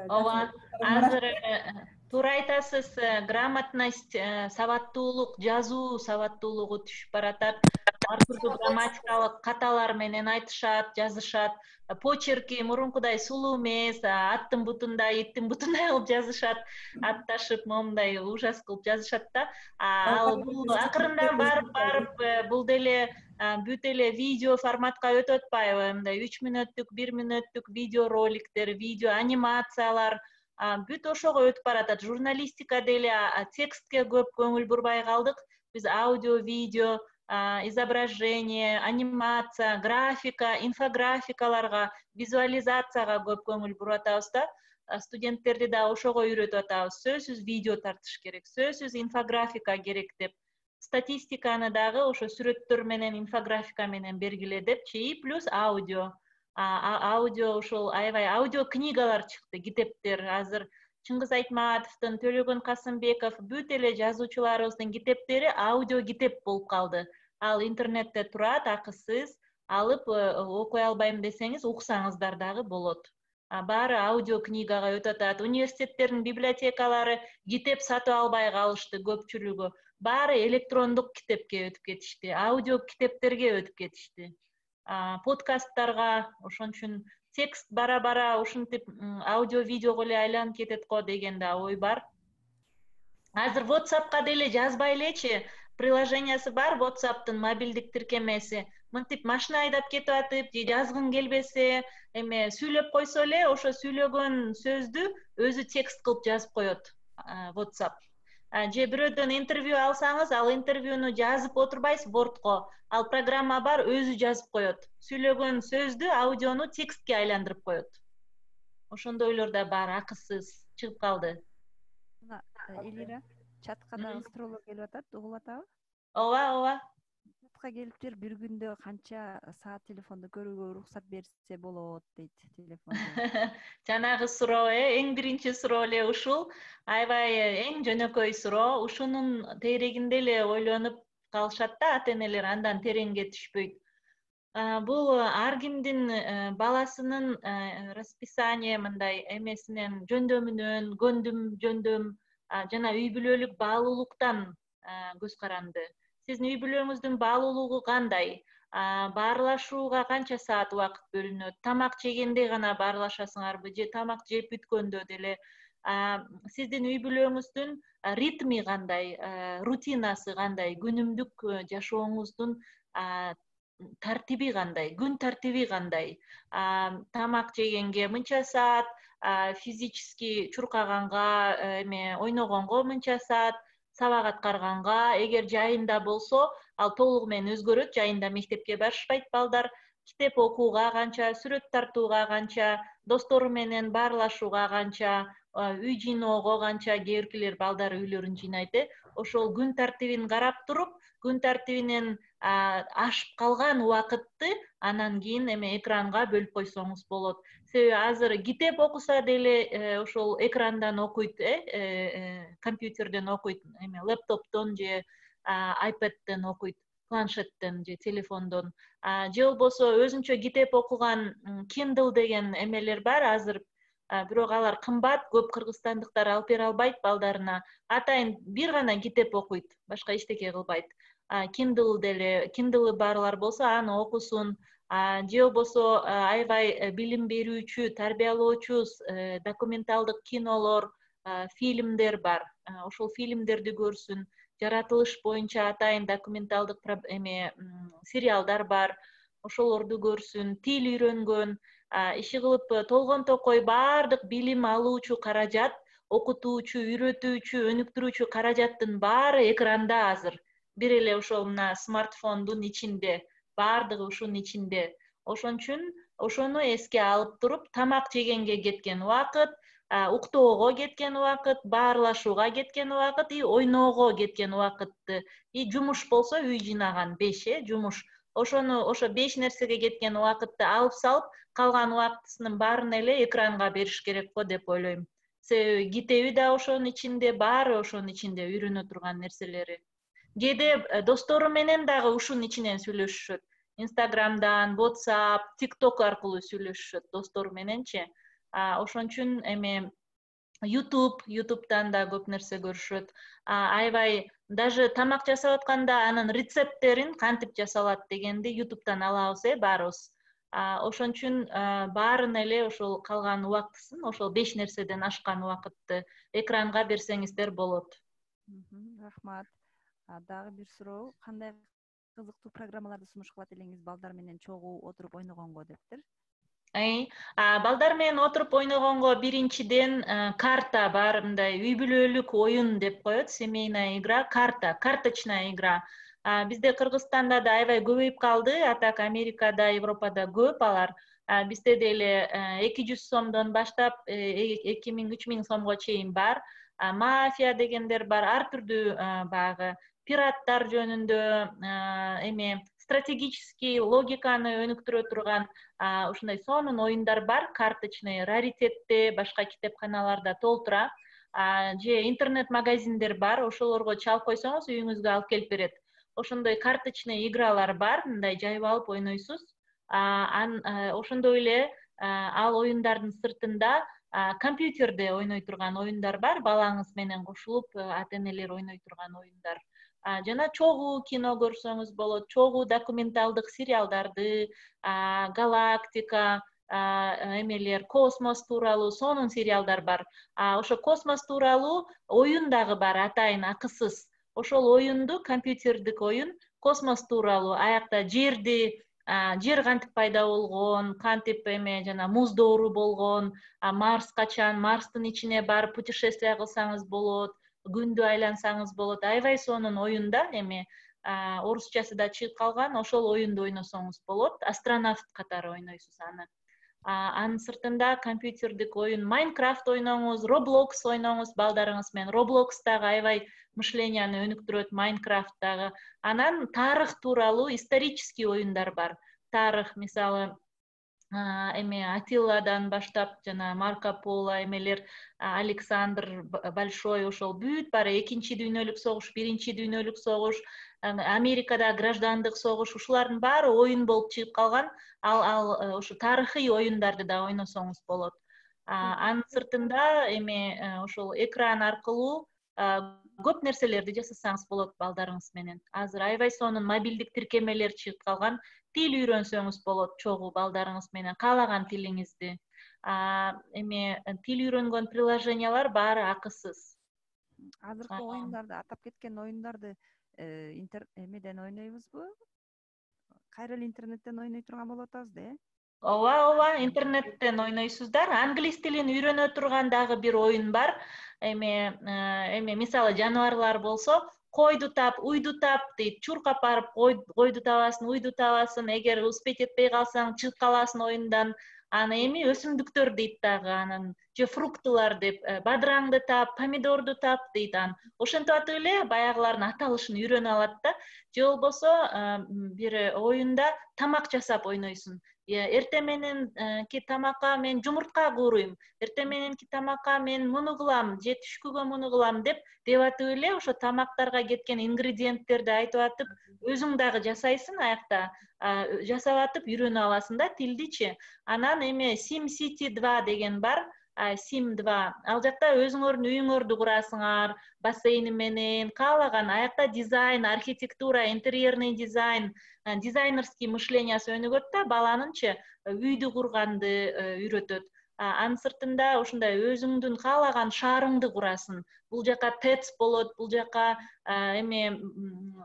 Ооба, азыр туура айтасыз, грамотность, сабаттуулук, жазуу сабаттуулугу түшүп баратат. Ар түрдүү грамматикалык каталар менен айтышат, жазышат. Почерки мурункудай сулуу эмес, аттын бутундай, иттин бутундай кылып жазышат, атташып, момундай ужас кылып жазышат да. Ал бул акырында барып барып бул деле бүт эле видео форматка өтүп атпайбы? Мындай үч мүнөттүк, бир мүнөттүк видео роликтер, видео анимациялар бүт ошого өтүп баратат. Журналистика деле текстке көп көңүл бурбай калдык. Биз аудио, видео, изображение, анимация, графика, инфографикаларга, визуализацияга көп көңүл буруп атабыз да. Студенттерди да ошого үйрөтүп атабыз. Сөзсүз видео тартыш керек, сөзсүз инфографика керек деп. Статистиканы дагы ошо сүрөттөр менен, инфографика менен бергиле депчи, и плюс аудио. Аудио ошол аябай аудио книгалар чыкты, китептер. Азыр Чыңгыз Айтматовдун, Төлөгөн Касымбеков, бүт эле жазуучуларыбыздын китептери аудио китеп болуп калды. Ал интернетте турат, акысыз, алып окуй албайм десеңиз, уксаңыздар дагы болот. Баары аудио книгага өтүп атат. Университеттердин библиотекалары китеп сатып албай калышты көпчүлүгү. Баары электрондук китепке өтүп кетишти, аудио китептерге өтүп кетишти. Подкасттарга, ошон үчүн текст бара-бара ушинтип аудио видеого эле айланып кетет го деген да ой бар. Азыр WhatsAppка деле жазбай элечи, приложениясы бар WhatsApp'тын мобилдик тиркемеси. Мынтип машина айдап кетип атып, же жазгың келбесе, эме сүйлөп койсо эле, ошо сүйлөгөн сөздү өзү текст кылып жазып коет WhatsApp. Же бирөөдөн интервью алсаңыз, ал интервьюну жазып отурбайсыз бортко. Ал программа бар, өзү жазып коет. Сүйлөгөн сөздү, аудиону текстке айландырып коет. Ошондойлор да бар, акысыз чыгып калды.
Элира, чатка дагы суроолор келип атат, угулуп атабы?
Ооба, ооба.
убакытка келиптир, бир күндө канча саат телефонду көрүүгө уруксат берсе болот дейт телефонду.
Жанагы суроо э эң биринчи суроо эле ушул. Аябай эң жөнөкөй суроо. Ушунун тегерегинде эле ойлонуп калышат да ата энелер, андан тереңге түшпөйт. Бул ар кимдин баласынын расписание мындай эмесинен, жөндөмүнөн, көндүм жөндөм жана үй бүлөлүк баалуулуктан көз каранды. Сиздин үй бүлөңүздүн баалуулугу кандай? Баарлашууга канча саат убакыт бөлүнөт? Тамак жегенде гана баарлашасыңарбы же тамак жеп бүткөндө деле? Сиздин үй бүлөңүздүн ритми кандай? Рутинасы кандай? Күнүмдүк жашооңуздун тартиби кандай? Күн тартиби кандай? Тамак жегенге мынча саат, физически чуркаганга, эме ойногонго мынча саат, сабак аткарганга, эгер жайында болсо, ал толугу менен өзгөрөт. Жайында мектепке барышпайт балдар. Китеп окууга канча, сүрөт тартууга канча, достору менен баарлашууга канча, үй жыйноого канча, кээ биркилер балдар үйлөрүн жыйнайт э. Ошол күн тартибин карап туруп, күн тартибинен ашып калган убакытты анан кийин эме экранга бөлүп койсоңуз болот. Себеби азыр китеп окуса деле ошол экрандан окуйт, э, компьютерден окуйт, эме лептоптон же айпэдтен окуйт, планшеттен же телефондон. Же болбосо өзүнчө китеп окуган Kindle деген эмелер бар азыр. Бирок алар кымбат, көп кыргызстандыктар алып бере албайт балдарына. Атайын бир гана китеп окуйт, башка эчтеке кылбайт. Kindle деле, Kindle барлар болсо аны окусун. Же болбосо аябай билим берүүчү, тарбиялоочу документалдык кинолор, фильмдер бар. Ошол фильмдерди көрсүн. Жаратылыш боюнча атайын документалдык эме сериалдар бар. Ошолорду көрсүн. Тил үйрөнгөн, иши кылып толгон токой баардык билим алуучу каражат, окутуучу, үйрөтүүчү, өнүктүрүүчү каражаттын баары экранда азыр. Бир эле ошол мына смартфондун ичинде, баардыгы ушунун ичинде. Ошон үчүн ошону эске алып туруп, тамак жегенге кеткен убакыт, уктоого кеткен убакыт, баарлашууга кеткен убакыт и ойноого кеткен убакытты, и жумуш болсо үй жыйнаган беш, э, жумуш. Ошону ошо беш нерсеге кеткен убакытты алып салып, калган убактысынын баарын эле экранга бериш керек го деп ойлойм. Себеби китеби да ошонун ичинде, баары ошонун ичинде, үйрөнө турган нерселери. Кээде достору менен дагы ушунун ичинен сүйлөшүшөт. Инстаграмдан, WhatsApp, TikTok аркылуу сүйлөшүшөт достору мененчи. Ошон үчүн эме YouTube, YouTube'дан да көп нерсе көрүшөт. Аябай даже тамак жасап атканда анын рецепттерин кантип жасалат дегенди YouTube'дан алабыз, э, баарыбыз. Ошон үчүн баарын эле ошол калган убактысын, ошол беш нерседен ашкан убакытты экранга берсеңиздер болот.
Рахмат. Дагы бир суроо, кандай кызыктуу программаларды сунуш кылат элеңиз балдар менен чогуу отуруп ойногонго дептир?
Балдар менен отуруп ойногонго биринчиден карта бар, мындай үй бүлөлүк оюн деп коет, семейная игра, карта, карточная игра. Бизде Кыргызстанда да аябай көбөйүп калды, атак Америкада, Европада көп алар. Бизде деле эки жүз сомдон баштап эки миң, үч миң сомго чейин бар. Мафия дегендер бар, ар түрдүү багы пираттар жөнүндө, эме стратегический логиканы өнүктүрө турган ушундай сонун оюндар бар, карточный, раритетте, башка китепканаларда толтура. Же интернет магазиндер бар, ошолорго чалып койсоңуз үйүңүзгө алып келип берет. Ошондой карточный игралар бар, мындай жайып алып ойнойсуз. Ошондой эле ал оюндардын сыртында компьютерде ойной турган оюндар бар, балаңыз менен кошулуп ата энелер ойной турган оюндар. Жана чогуу кино көрсөңүз болот, чогуу документалдык сериалдарды, галактика, эмелер, космос тууралуу сонун сериалдар бар. Ошо космос тууралуу оюн дагы бар, атайын акысыз. Ошол оюнду, компьютердик оюн, космос тууралуу, аякта жерди, жер кантип пайда болгон, кантип эме жана муз доору болгон, Марс качан, Марстын ичине барып путешествие кылсаңыз болот, күндү айлансаңыз болот. Аябай сонун оюнда, эме орусчасы да чыгып калган, ошол оюнду ойносоңуз болот. Астронавт катары ойнойсуз аны. Анын сыртында компьютердик оюн Minecraft ойноңуз, Roblox ойноңуз балдарыңыз менен. Roblox дагы аябай мышленияны өнүктүрөт, Minecraft дагы. Анан тарых тууралуу исторический оюндар бар. Тарых, мисалы, эме Атилладан баштап жана Марко Поло, эмелер, Александр Большой, ошол бүт баары экинчи дүйнөлүк согуш, биринчи дүйнөлүк согуш, Америкада граждандык согуш, ушулардын баары оюн болуп чыгып калган. Ал ал ушу тарыхый оюндарды да ойносоңуз болот. Анын сыртында эме ошол экран аркылуу көп нерселерди жасасаңыз болот балдарыңыз менен. Азыр аябай сонун мобилдик тиркемелер чыгып калган. Тил үйрөнсөңүз болот чогуу балдарыңыз менен, каалаган тилиңизди. Эме тил үйрөнгөн приложениялар баары акысыз.
Азыркы оюндарды, атап кеткен оюндарды эмеден ойнойбузбу? Кайра эле интернеттен ойной турган болуп атабыз да, э?
Ооба, ооба, интернеттен ойнойсуздар. Англис тилин үйрөнө турган дагы бир оюн бар. Эме, эме мисалы жаныбарлар болсо, койду тап, уйду тап дейт. Чуркап барып койду табасың, уйду табасың. Эгер успеть этпей калсаң, чыгып каласың оюндан. Аны эми өсүмдүктөр дейт дагы, анан же фруктылар деп, бадыраңды тап, помидорду тап дейт. Ан ошентип атып эле баягылардын аталышын үйрөнүп алат да. Же болбосо бир оюнда тамак жасап ойнойсуң. Эртең мененки тамакка мен жумуртка кууруйм, эртең мененки тамакка мен муну кылам, же түшкүгө муну кылам деп деп атып эле ошо тамактарга кеткен ингредиенттерди айтып атып, өзүң дагы жасайсың аякта, жасап атып үйрөнүп аласың да тилдичи. Анан эме Sim City два деген бар. Сим два. Ал жакта өзүңөрдүн үйүңөрдү курасыңар, бассейни менен, каалаган аякта дизайн, архитектура, интерьерный дизайн, дизайнерский мышлениясы өнүгөт да, баланынчы үйдү курганды үйрөтөт. Анын сыртында ушундай өзүңдүн каалаган шаарыңды курасың. Бул жака ТЭЦ болот, бул жака эме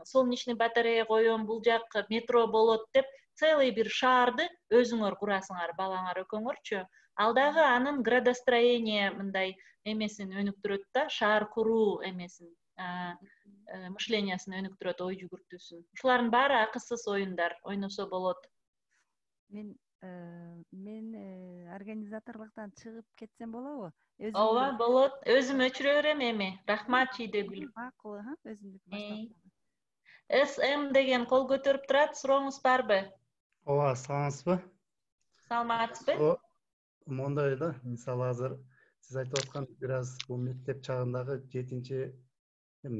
солнечный батарея коем, бул жак метро болот деп, целый бир шаарды өзүңөр курасыңар, балаңар экөөңөрчү. Ал дагы анын градостроение мындай эмесин өнүктүрөт да, шаар куруу эмесин, мышлениясын өнүктүрөт, ой жүгүртүүсүн. Ушулардын баары акысыз оюндар, ойносо болот.
Мен мен организаторлуктан чыгып кетсем болобу?
Ооба, болот. Өзүм өчүрө берем эми. Рахмат Чийдегүл.
Макул, өзүмдүк баштап.
эс эм деген кол көтөрүп турат, сурооңуз барбы?
Ооба, саламатсызбы?
Саламатсызбы?
Мондай да, мисалы азыр сиз айтып аткан бир аз бул мектеп чагындагы жетинчи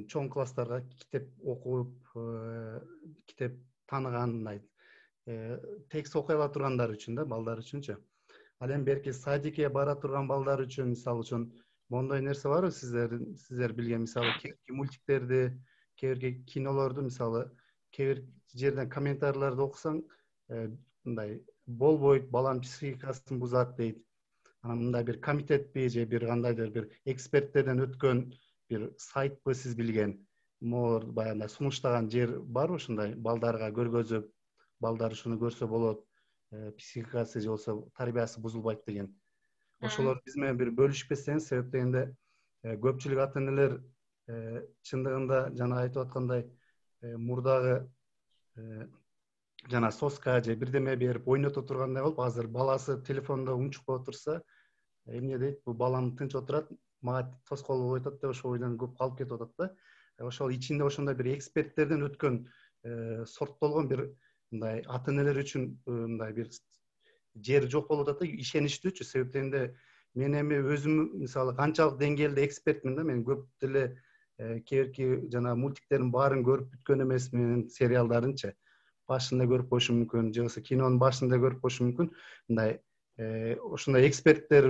чоң класстарга китеп окуп, китеп тааныгандай текст окуй ала тургандар үчүн да, балдар үчүнчү. Ал эми берки садикке бара турган балдар үчүн мисалы үчүн мондой нерсе барбы сиздер сиздер билген, мисалы кээ бирки мультиктерди, кээ бирки кинолорду, мисалы кээ бир жерден комментарийлерди окусаң, мындай болбойт, баланын психикасын бузат дейт. Анан мындай бир комитетпи же бир кандайдыр бир эксперттерден өткөн бир сайтпы сиз билген, могу баягындай сунуштаган жер барбы ушундай балдарга көргөзүп, балдар ушуну көрсө болот, психикасы же болбосо тарбиясы бузулбайт деген. Ошолор биз менен бир бөлүшпесеңиз, себеп дегенде көпчүлүк ата энелер чындыгында жана айтып аткандай мурдагы жана соска же бирдеме берип ойното тургандай болуп, азыр баласы телефондо унчукпай отурса, эмне дейт, бул балам тынч отурат, мага тоскоол болуп атат деп ошол ойдон көп калып кетип атат да. Ошол ичинде ошондой бир эксперттерден өткөн, сорттолгон бир мындай ата энелер үчүн мындай бир жер жок болуп атат да, ишеничтүүчү. Себеп дегенде мен эми өзүм мисалы канчалык деңгээлде экспертмин да, мен көп деле кээ бирки жана мультиктердин баарын көрүп бүткөн эмесмин, сериалдарынчы. Башында көрүп коюшум мүмкүн, же болбосо кинонун башында көрүп коюшум мүмкүн. Мындай ошондой эксперттер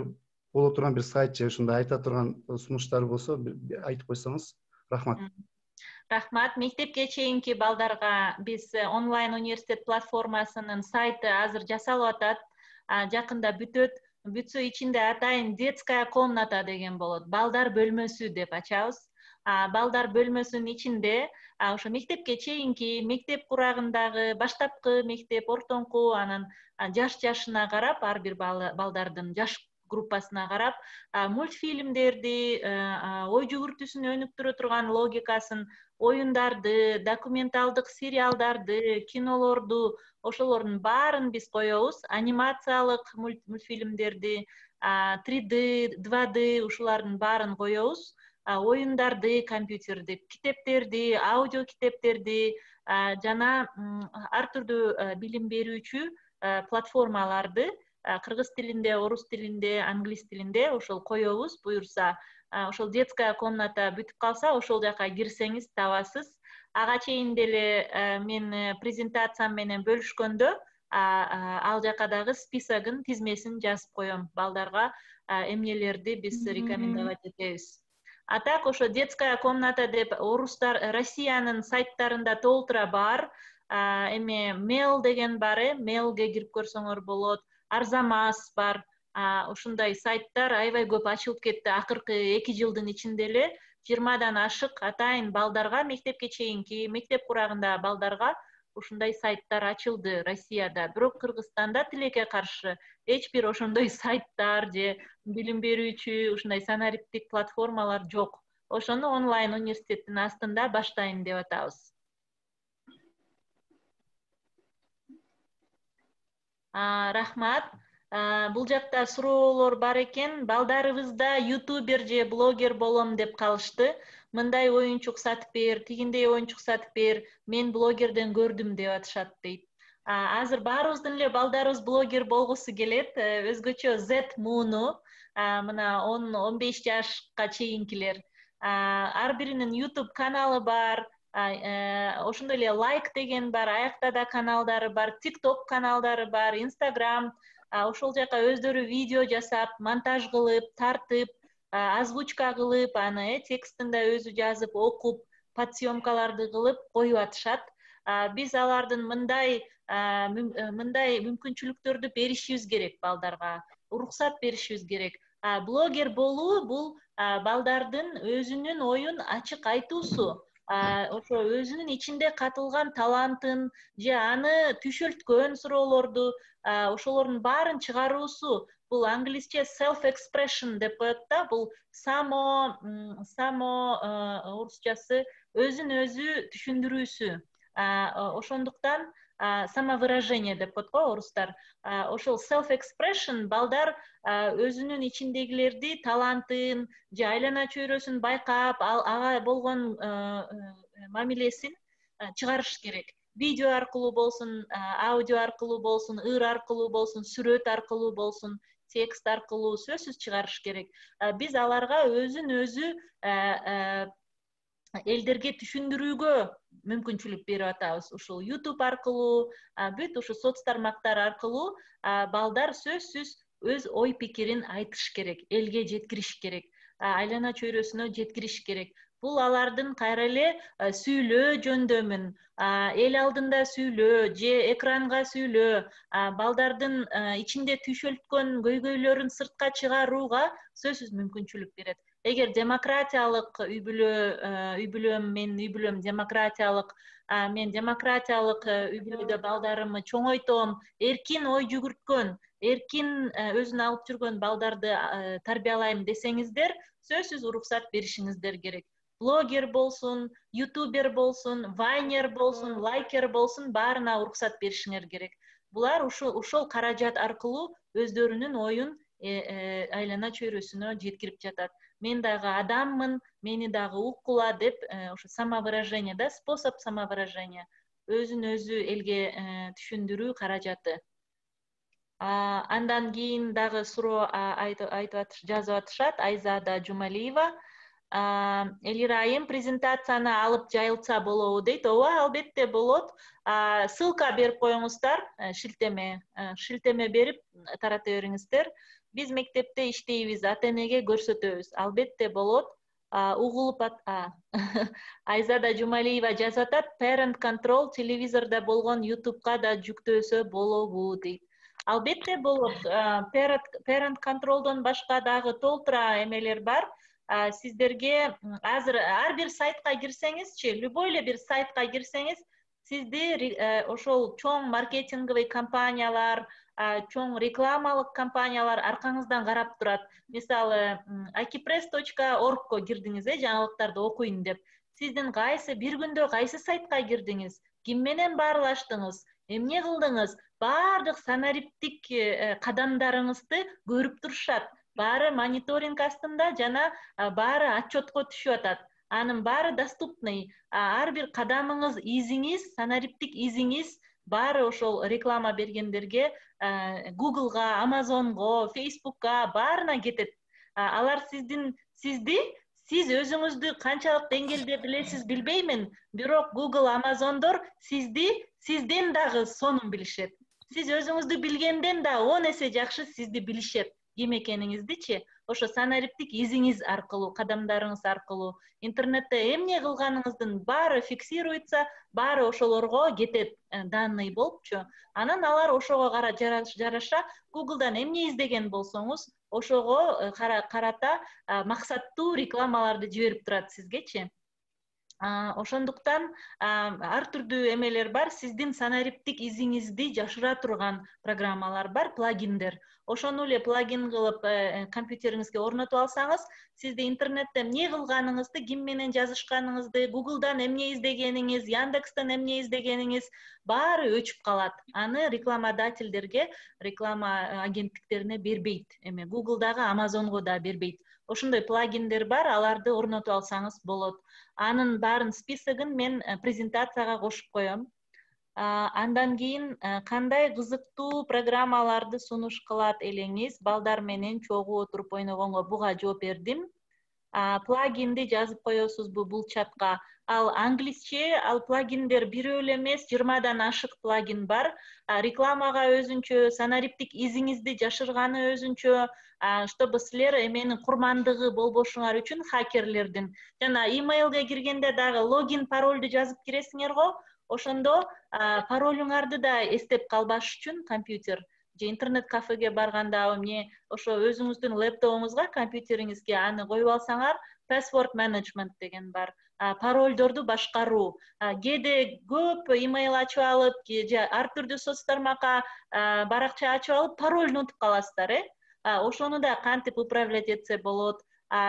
боло турган бир сайт же ушундай айта турган сунуштар болсо айтып койсоңуз. Рахмат.
Рахмат. Мектепке чейинки балдарга биз онлайн университет платформасынын сайты азыр жасалып атат. Жакында бүтөт. Бүтсө ичинде атайын детская комната деген болот. Балдар бөлмөсү деп ачабыз. Балдар бөлмөсүнүн ичинде ошо мектепке чейинки, мектеп курагындагы, баштапкы мектеп, ортоңку, анан жаш жашына карап, ар бир балдардын жаш группасына карап, мультфильмдерди, ой жүгүртүүсүн өнүктүрө турган, логикасын оюндарды, документалдык сериалдарды, кинолорду, ошолордун баарын биз коебуз. Анимациялык мультфильмдерди, три дэ, два дэ ушулардын баарын коебуз. Оюндарды, компьютерди, китептерди, аудио китептерди жана ар түрдүү билим берүүчү платформаларды кыргыз тилинде, орус тилинде, англис тилинде ошол коебуз. Буюрса, ошол детская комната бүтүп калса, ошол жака кирсеңиз табасыз. Ага чейин деле мен презентациям менен бөлүшкөндө ал жака дагы списогун, тизмесин жазып коем. Балдарга эмнелерди биз рекомендовать этебиз. А так ошо детская комната деп орустар, Россиянын сайттарында толтура бар. Эме Mail деген бар, э, Mailге кирип көрсөңөр болот. Арзамас бар. Ушундай сайттар аябай көп ачылып кетти. Акыркы эки жылдын ичинде эле жыйырмадан ашык атайын балдарга, мектепке чейинки, мектеп курагындагы балдарга ушундай сайттар ачылды Россияда. Бирок Кыргызстанда тилекке каршы эч бир ошондой сайттар же билим берүүчү ушундай санариптик платформалар жок. Ошону онлайн университеттин астында баштайын деп атабыз. Рахмат. Бул жакта суроолор бар экен. Балдарыбызда ютубер же блогер болом деп калышты. Мындай оюнчук сатып бер, тигиндей оюнчук сатып бер, мен блогерден көрдүм деп атышат дейт. Азыр баарыбыздын эле балдарыбыз блогер болгусу келет. Өзгөчө Z мууну, мына он он беш жашка чейинкилер. Ар биринин YouTube каналы бар. Ошондой эле лайк деген бар, аякта да каналдары бар, TikTok каналдары бар, Instagram. Ошол жака өздөрү видео жасап, монтаж кылып, тартып, озвучка кылып, аны текстин да өзү жазып, окуп, подсъемкаларды кылып коюп атышат. Биз алардын мындай мындай мүмкүнчүлүктөрдү беришибиз керек балдарга, уруксат беришибиз керек. Блогер болуу бул балдардын өзүнүн оюн ачык айтуусу. Ошо өзүнүн ичинде катылган талантын же аны түшөлткөн суроолорду, ошолордун баарын чыгаруусу. Бул англисче self expression деп коет да, бул само само орусчасы өзүн өзү түшүндүрүүсү. Ошондуктан самовыражение деп коет го орустар. Ошол self expression балдар өзүнүн ичиндегилерди, талантын же айлана чөйрөсүн байкап, ага болгон мамилесин чыгарыш керек. Видео аркылуу болсун, аудио аркылуу болсун, ыр аркылуу болсун, сүрөт аркылуу болсун, текст аркылуу сөзсүз чыгарыш керек. Биз аларга өзүн өзү элдерге түшүндүрүүгө мүмкүнчүлүк берип атабыз. Ушул YouTube аркылуу, бүт ушу соц тармактар аркылуу балдар сөзсүз өз ой пикирин айтыш керек, элге жеткириш керек, айлана чөйрөсүнө жеткириш керек. Бул алардын кайра эле сүйлөө жөндөмүн, эл алдында сүйлөө же экранга сүйлөө, балдардын ичинде түшөлткөн көйгөйлөрүн сыртка чыгарууга сөзсүз мүмкүнчүлүк берет. Эгер демократиялык үй бүлө, үй бүлөм, мен үй бүлөм демократиялык, мен демократиялык үй бүлөдө балдарымды чоңойтом, эркин ой жүгүрткөн, эркин өзүн алып жүргөн балдарды тарбиялайм десеңиздер, сөзсүз уруксат беришиңиздер керек. Блогер болсун, ютубер болсун, вайнер болсун, лайкер болсун, баарына уруксат беришиңер керек. Булар ушул каражат аркылуу өздөрүнүн оюн айлана чөйрөсүнө жеткирип жатат. Мен дагы адаммын, мени дагы уккула деп, ошо самовыражение да, способ самовыражения, өзүн өзү элге түшүндүрүү каражаты. Андан кийин дагы суроо айтып жазып атышат, Айзада Жумалиева. Элир айым, презентацияны алып жайылтса болобу дейт. Ооба, албетте болот. Ссылка берип коюңуздар, шилтеме, шилтеме берип тарата бериңиздер. Биз мектепте иштейбиз, ата энеге көрсөтөбүз. Албетте болот. Угулуп ат. Айзада Жумалиева жазып атат, parent control телевизордо болгон YouTube'ка да жүктөсө болобу дейт. Албетте болот. Parent controlдон башка дагы толтура эмелер бар. Сиздерге азыр ар бир сайтка кирсеңизчи, любой эле бир сайтка кирсеңиз, сизди ошол чоң маркетинговый компаниялар, чоң рекламалык компаниялар аркаңыздан карап турат. Мисалы, akipress точка orgко кирдиңиз, жаңылыктарды окуйн деп. сиздин кайсы бир күндө кайсы сайтка кирдиңиз, ким менен баарлаштыңыз, эмне кылдыңыз, баардык санариптик кадамдарыңызды көрүп турушат. Баары мониторинг астында жана баары отчетко түшүп атат. Анын баары доступный. Ар бир кадамыңыз, изиңиз, санариптик изиңиз баары ошол реклама бергендерге, Google'га, Amazon'го, Facebook'ка баарына кетет. Алар сиздин сизди сиз өзүңүздү канчалык деңгээлде билесиз билбеймин, бирок Google, Amazon'дор сизди сизден дагы сонун билишет. Сиз өзүңүздү билгенден да он эсе жакшы сизди билишет. Ким экениңиздичи ошо санариптик изиңиз аркылуу, кадамдарыңыз аркылуу, интернетте эмне кылганыңыздын баары фиксируется, баары ошолорго кетет, данный болупчу. Анан алар ошого жараша Google'дан эмне издеген болсоңуз, ошого карата максаттуу рекламаларды жиберип турат сизгечи. Ошондуктан ар түрдүү эмелер бар, сиздин санариптик изиңизди жашыра турган программалар бар, плагиндер. Ошону эле плагин кылып компьютериңизге орнотуп алсаңыз, сизди интернетте эмне кылганыңызды, ким менен жазышканыңызды, Google'дан эмне издегениңиз, Яндекстен эмне издегениңиз баары өчүп калат. Аны рекламодательдерге, реклама агенттиктерине бербейт. Эме Google'дагы, Amazon'го да бербейт. Ошондой плагиндер бар, аларды орнотуп алсаңыз болот. Анын баарын списогун мен презентацияга кошуп коем. Андан кийин кандай кызыктуу программаларды сунуш кылат элеңиз, балдар менен чогуу отуруп ойногонго буга жооп бердим. Плагинди жазып коесузбу бул чатка? Ал англисче, ал плагиндер бирөө эле эмес, жыйырмадан ашык плагин бар. Рекламага өзүнчө, санариптик изиңизди жашырганы өзүнчө, чтобы силер эменин курмандыгы болбошуңар үчүн хакерлердин. Жана имейлге киргенде дагы логин, паролду жазып киресиңер го, ошондо паролуңарды да эстеп калбаш үчүн компьютер же интернет кафеге барганда эмне ошо өзүңүздүн лэптопуңузга, компьютериңизге аны коюп алсаңар, password management деген бар. Паролдорду башкаруу. Кээде көп имейл ачып алып, же ар түрдүү соц тармакка баракча ачып алып, паролду унутуп каласыздар, э? Ошону да кантип управлять этсе болот.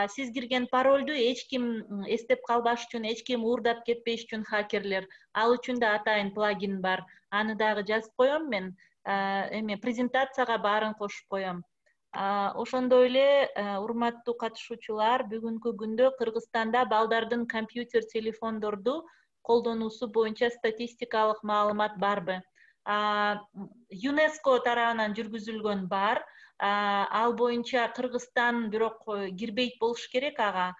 Сиз кирген паролду эч ким эстеп калбаш үчүн, эч ким уурдап кетпеш үчүн хакерлер, ал үчүн да атайын плагин бар. Аны дагы жазып коем мен. Эме презентацияга баарын кошуп коем. Ошондой эле, урматтуу катышуучулар, бүгүнкү күндө Кыргызстанда балдардын компьютер, телефондорду колдонуусу боюнча статистикалык маалымат барбы? ЮНЕСКО тарабынан жүргүзүлгөн бар. Ал боюнча Кыргызстан бирок кирбейт болуш керек ага.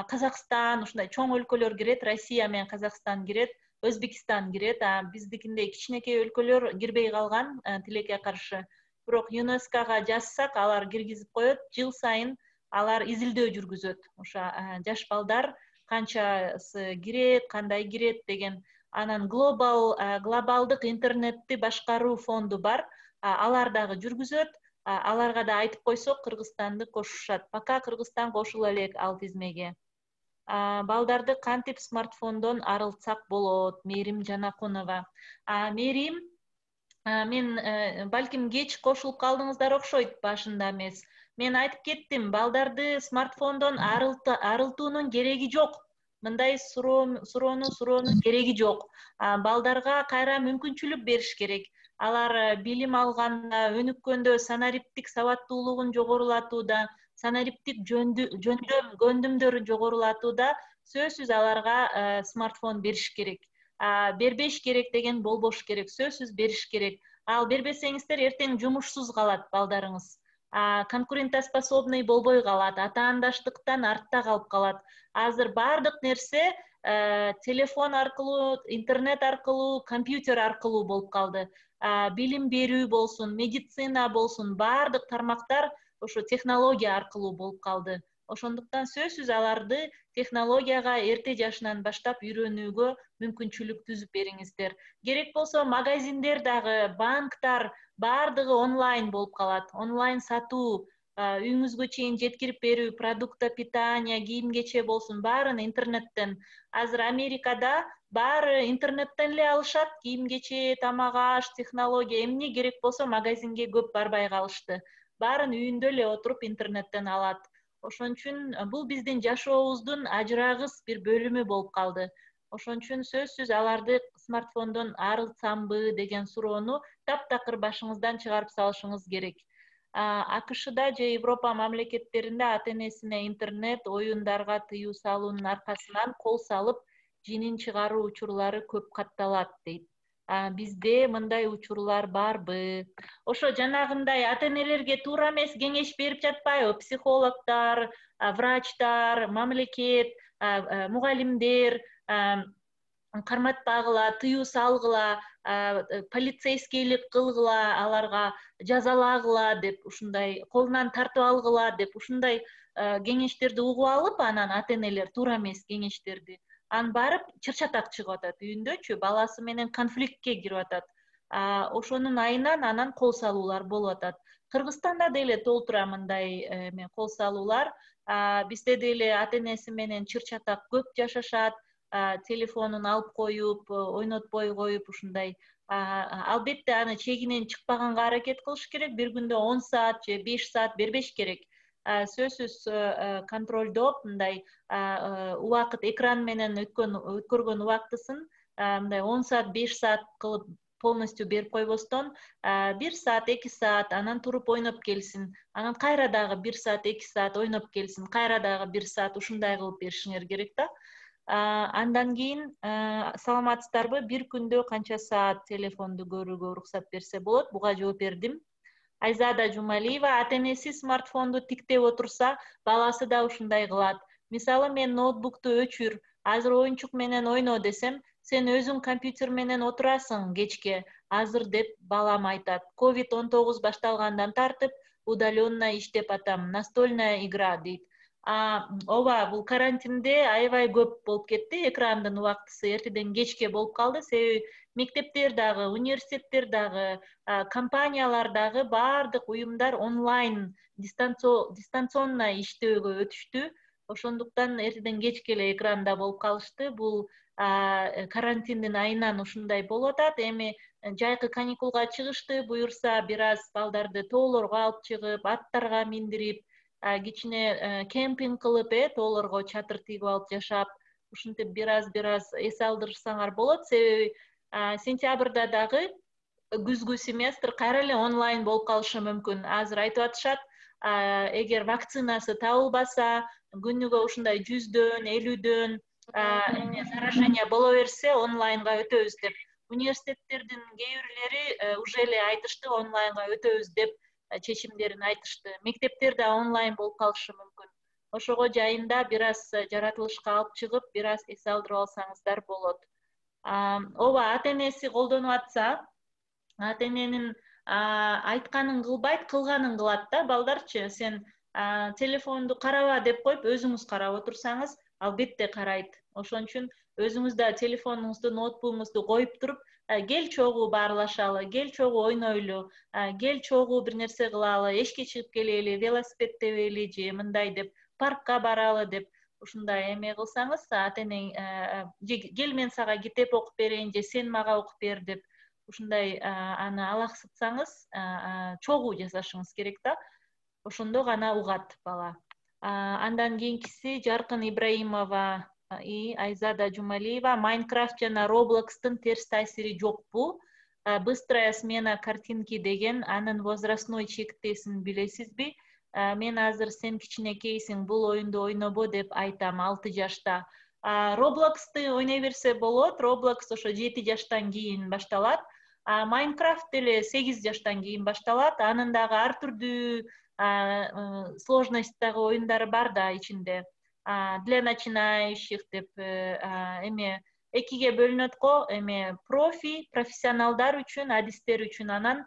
Казакстан, ушундай чоң өлкөлөр кирет, Россия менен Казакстан кирет, Өзбекистан кирет. Биздикиндей кичинекей өлкөлөр кирбей калган, тилекке каршы. Бирок ЮНЕСКОга жазсак, алар киргизип коет. Жыл сайын алар изилдөө жүргүзөт. Ошо жаш балдар канчасы кирет, кандай кирет деген. Анан глобал, глобалдык интернетти башкаруу фонду бар. Алар дагы жүргүзөт. Аларга да айтып койсок, Кыргызстанды кошушат. Пока Кыргызстан кошула элек ал тизмеге. Балдарды кантип смартфондон арылтсак болот? Мээрим Жанакунова. Мээрим, мен балким кеч кошулуп калдыңыздар окшойт, башында эмес. Мен айтып кеттим, балдарды смартфондон арылтуунун кереги жок. Мындай суроону суроонун кереги жок. Балдарга кайра мүмкүнчүлүк бериш керек. Алар билим алганда, өнүккөндө санариптик сабаттуулугун жогорулатууда, санариптик жөндөм, көндүмдөрүн жогорулатууда сөзсүз аларга смартфон бериш керек. Бербеш керек деген болбош керек, сөзсүз бериш керек. Ал бербесеңиздер эртең жумушсуз калат балдарыңыз. Конкурентоспособный болбой калат, атаандаштыктан артта калып калат. Азыр баардык нерсе телефон аркылуу, интернет аркылуу, компьютер аркылуу болуп калды. Билим берүү болсун, медицина болсун, баардык тармактар ошо технология аркылуу болуп калды. Ошондуктан сөзсүз аларды технологияга эрте жашынан баштап үйрөнүүгө мүмкүнчүлүк түзүп бериңиздер. Керек болсо магазиндер дагы, банктар баардыгы онлайн болуп калат. Онлайн сатуу, үйүңүзгө чейин жеткирип берүү, продукта питания, кийим-кече болсун, баарын интернеттен. Азыр Америкада баары интернеттен эле алышат, кийим-кече, тамак-аш, технология, эмне керек болсо магазинге көп барбай калышты. Баарын үйүндө эле отуруп интернеттен алат. Ошон үчүн бул биздин жашообуздун ажырагыс бир бөлүмү болуп калды. Ошон үчүн сөзсүз аларды смартфондон арылсамбы деген суроону таптакыр башыңыздан чыгарып салышыңыз керек. АКШда же Европа мамлекеттеринде ата энесине интернет оюндарга тыюу салуунун аркасынан кол салып жинин чыгаруу учурлары көп катталат дейт. Бизде мындай учурлар барбы? Ошо жанагындай ата энелерге туура эмес кеңеш берип жатпайбы? Психологдор, врачтар, мамлекет, мугалимдер карматпагыла, тыюу салгыла, полицейскийлик кылгыла, аларга жазалагыла деп ушундай колунан тартып алгыла деп ушундай кеңештерди угуп алып, анан ата энелер туура эмес кеңештерди анан барып чыр-чатак чыгып атат үйүндөчү, баласы менен конфликтке кирип атат. Ошонун айынан анан кол салуулар болуп атат. Кыргызстанда деле толтура мындай кол салуулар. Бизде деле ата энеси менен чыр-чатак көп жашашат, телефонун алып коюп, ойнотпой коюп ушундай. Албетте аны чегинен чыкпаганга аракет кылыш керек. Бир күндө он саат же беш саат бербеш керек. Сөзсүз контролдоп, мындай убакыт экран менен өткөргөн убактысын мындай он саат, беш саат кылып полностью берип койбостон, бир саат, эки саат анан туруп ойноп келсин. Анан кайра дагы бир саат, эки саат ойноп келсин. Кайра дагы бир саат ушундай кылып беришиңер керек да. Андан кийин саламатсыздарбы, бир күндө канча саат телефонду көрүүгө уруксат берсе болот? Буга жооп бердим. Айзада Жумалиева: ата энеси смартфонду тиктеп отурса, баласы да ушундай кылат. Мисалы, мен ноутбукту өчүр, азыр оюнчук менен ойно десем, сен өзүң компьютер менен отурасың кечке, азыр деп балам айтат. ковид он тогуз башталгандан тартып удаленно иштеп атам. Настольная игра дейт. Ооба, бул карантинде аябай көп болуп кетти. Экрандын убактысы эртеден кечке болуп калды. Себеби мектептер дагы, университеттер дагы, компаниялар дагы, баардык уюмдар онлайн, дистанционно иштөөгө өтүштү. Ошондуктан эртеден кечке эле экранда болуп калышты. Бул карантиндин айынан ушундай болуп атат. Эми жайкы каникулга чыгышты, буюрса бир аз балдарды тоолорго алып чыгып, аттарга миндирип, кичине кемпинг кылып, э, тоолорго чатыр тигип алып жашап, ушинтип бир аз бир аз эс алдырсаңар болот. Себеби сентябрда дагы күзгү семестр кайра эле онлайн болуп калышы мүмкүн. Азыр айтып атышат, эгер вакцинасы табылбаса, күнүгө ушундай жүздөн, элүүдөн заражение боло берсе, онлайнга өтөбүз деп. Университеттердин кээ бирлери уже эле айтышты, онлайнга өтөбүз деп чечимдерин айтышты. Мектептер да онлайн болуп калышы мүмкүн. Ошого жайында бир аз жаратылышка алып чыгып, бир аз эс алдырып алсаңыздар болот. Ооба, ата энеси колдонуп атса, ата эненин айтканын кылбайт, кылганын кылат да. Балдарчы, сен телефонду караба деп коюп, өзүңүз карап отурсаңыз, албетте карайт. Ошон үчүн өзүңүз да телефонуңузду, ноутбугуңузду коюп туруп, кел чогуу баарлашалы, кел чогуу ойнойлу, кел чогуу бир нерсе кылалы, эшикке чыгып келели, велосипед тебели же мындай деп, паркка баралы деп ушундай эме кылсаңыз, ата эне кел мен сага китеп окуп берейин же сен мага окуп бер деп ушундай аны алаксытсаңыз, чогуу жасашыңыз керек да. Ошондо гана угат бала. Андан кийинкиси Жаркын Ибраимова и Айзада Жумалиева: Майнкрафт жана Роблокстун терс таасири жокпу? Быстрая смена картинки деген анын возрастной чектесин билесизби? Мен азыр сен кичинекейсиң, бул оюнду ойнобо деп айтам, алты жашта. Роблоксту ойной берсе болот. Роблокс ошо жети жаштан кийин башталат. Майнкрафт деле сегиз жаштан кийин башталат. Анын дагы ар түрдүү сложностьтагы оюндары бар да ичинде. Для начинающих деп эме экиге бөлүнөт го, эме профи, профессионалдар үчүн, адистер үчүн, анан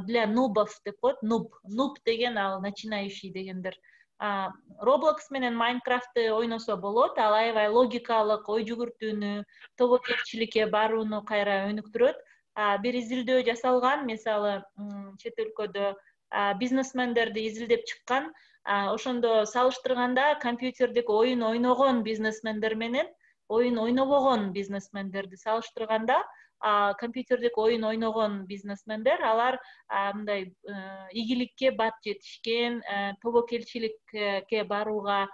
для нубов деп коет. Нуб, нуб деген ал начинающий дегендер. Roblox менен Майнкрафтты ойносо болот. Ал аябай логикалык, ой жүгүртүүнү, тобокелчиликке барууну кайра өнүктүрөт. Бир изилдөө жасалган, мисалы, чет өлкөдө бизнесмендерди изилдеп чыккан. Ошондо салыштырганда компьютердик оюн ойногон бизнесмендер менен оюн ойнобогон бизнесмендерди салыштырганда, компьютердик оюн ойногон бизнесмендер, алар мындай ийгиликке бат жетишкен, тобокелчиликке барууга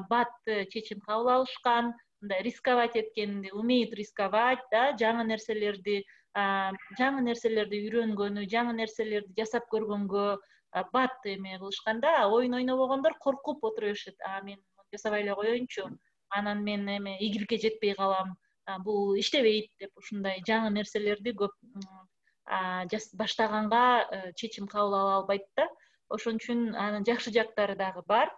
бат чечим кабыл алышкан, мындай рисковать эткенди, умеют рисковать, да, жаңы нерселерди жаңы нерселерди үйрөнгөнү, жаңы нерселерди жасап көргөнгө бат эме кылышканда, оюн ойнобогондор коркуп отура беришет. А мен жасабай эле коеюнчу, анан мен эме ийгиликке жетпей калам, бул иштебейт деп ушундай жаңы нерселерди көп баштаганга чечим кабыл ала албайт да. Ошон үчүн анын жакшы жактары дагы бар.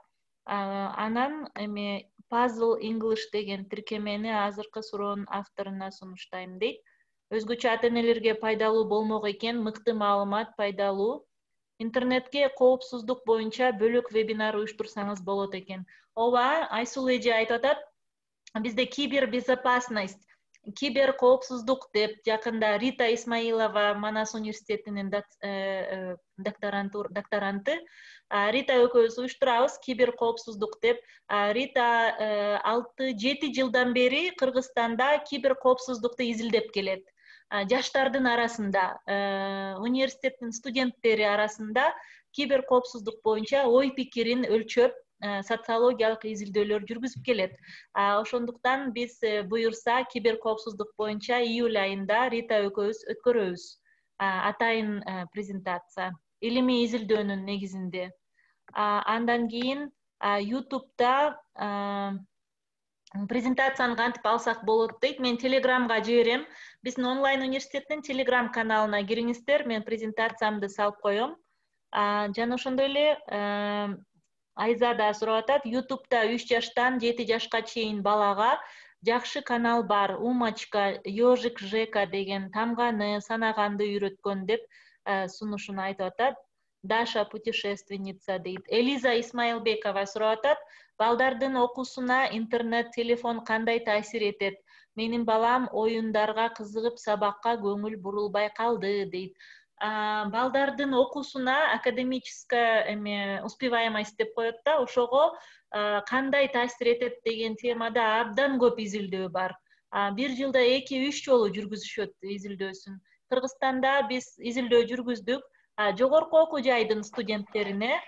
Анан эме Puzzle English деген тиркемени азыркы суроонун авторуна сунуштайм дейт. Өзгөчө ата-энелерге пайдалуу болмок экен, мыкты маалымат, пайдалуу. Интернетке коопсуздук боюнча бөлөк вебинар уюштурсаңыз болот экен. Ооба, Айсул эже айтып атат, бизде кибербезопасность, киберкоопсуздук деп жакында Рита Исмаилова Манас университетинин докторанты Рита экөөбүз уюштурабыз киберкоопсуздук деп. Рита алты жети жылдан бери Кыргызстанда киберкоопсуздукту изилдеп келет. Жаштардын арасында, университеттин студенттери арасында киберкоопсуздук боюнча ой пикирин өлчөп, социологиялык изилдөөлөр жүргүзүп келет. Ошондуктан биз буюрса киберкоопсуздук боюнча июль айында Рита экөөбүз өткөрөбүз атайын презентация, илимий изилдөөнүн негизинде. Андан кийин YouTube'да презентацияны кантип алсак болот дейт. Мен Телеграмга жиберем. Биздин онлайн университеттин Телеграм каналына кириңиздер, мен презентациямды салып коем. Жана ошондой эле Айза да сурап атат, YouTube'да үч жаштан жети жашка чейин балага жакшы канал бар. Умочка, Ёжик Жека деген тамганы, санаганды үйрөткөн деп сунушун айтып атат. Даша путешественница дейт. Элиза Исмаилбекова сурап атат, балдардын окуусуна интернет, телефон кандай таасир этет? Менин балам оюндарга кызыгып сабакка көңүл бурулбай калды дейт. Балдардын окуусуна академическая эме успеваемость деп коет да, ошого кандай таасир этет деген темада абдан көп изилдөө бар. Бир жылда эки үч жолу жүргүзүшөт изилдөөсүн. Кыргызстанда биз изилдөө жүргүздүк. Жогорку окуу жайдын студенттерине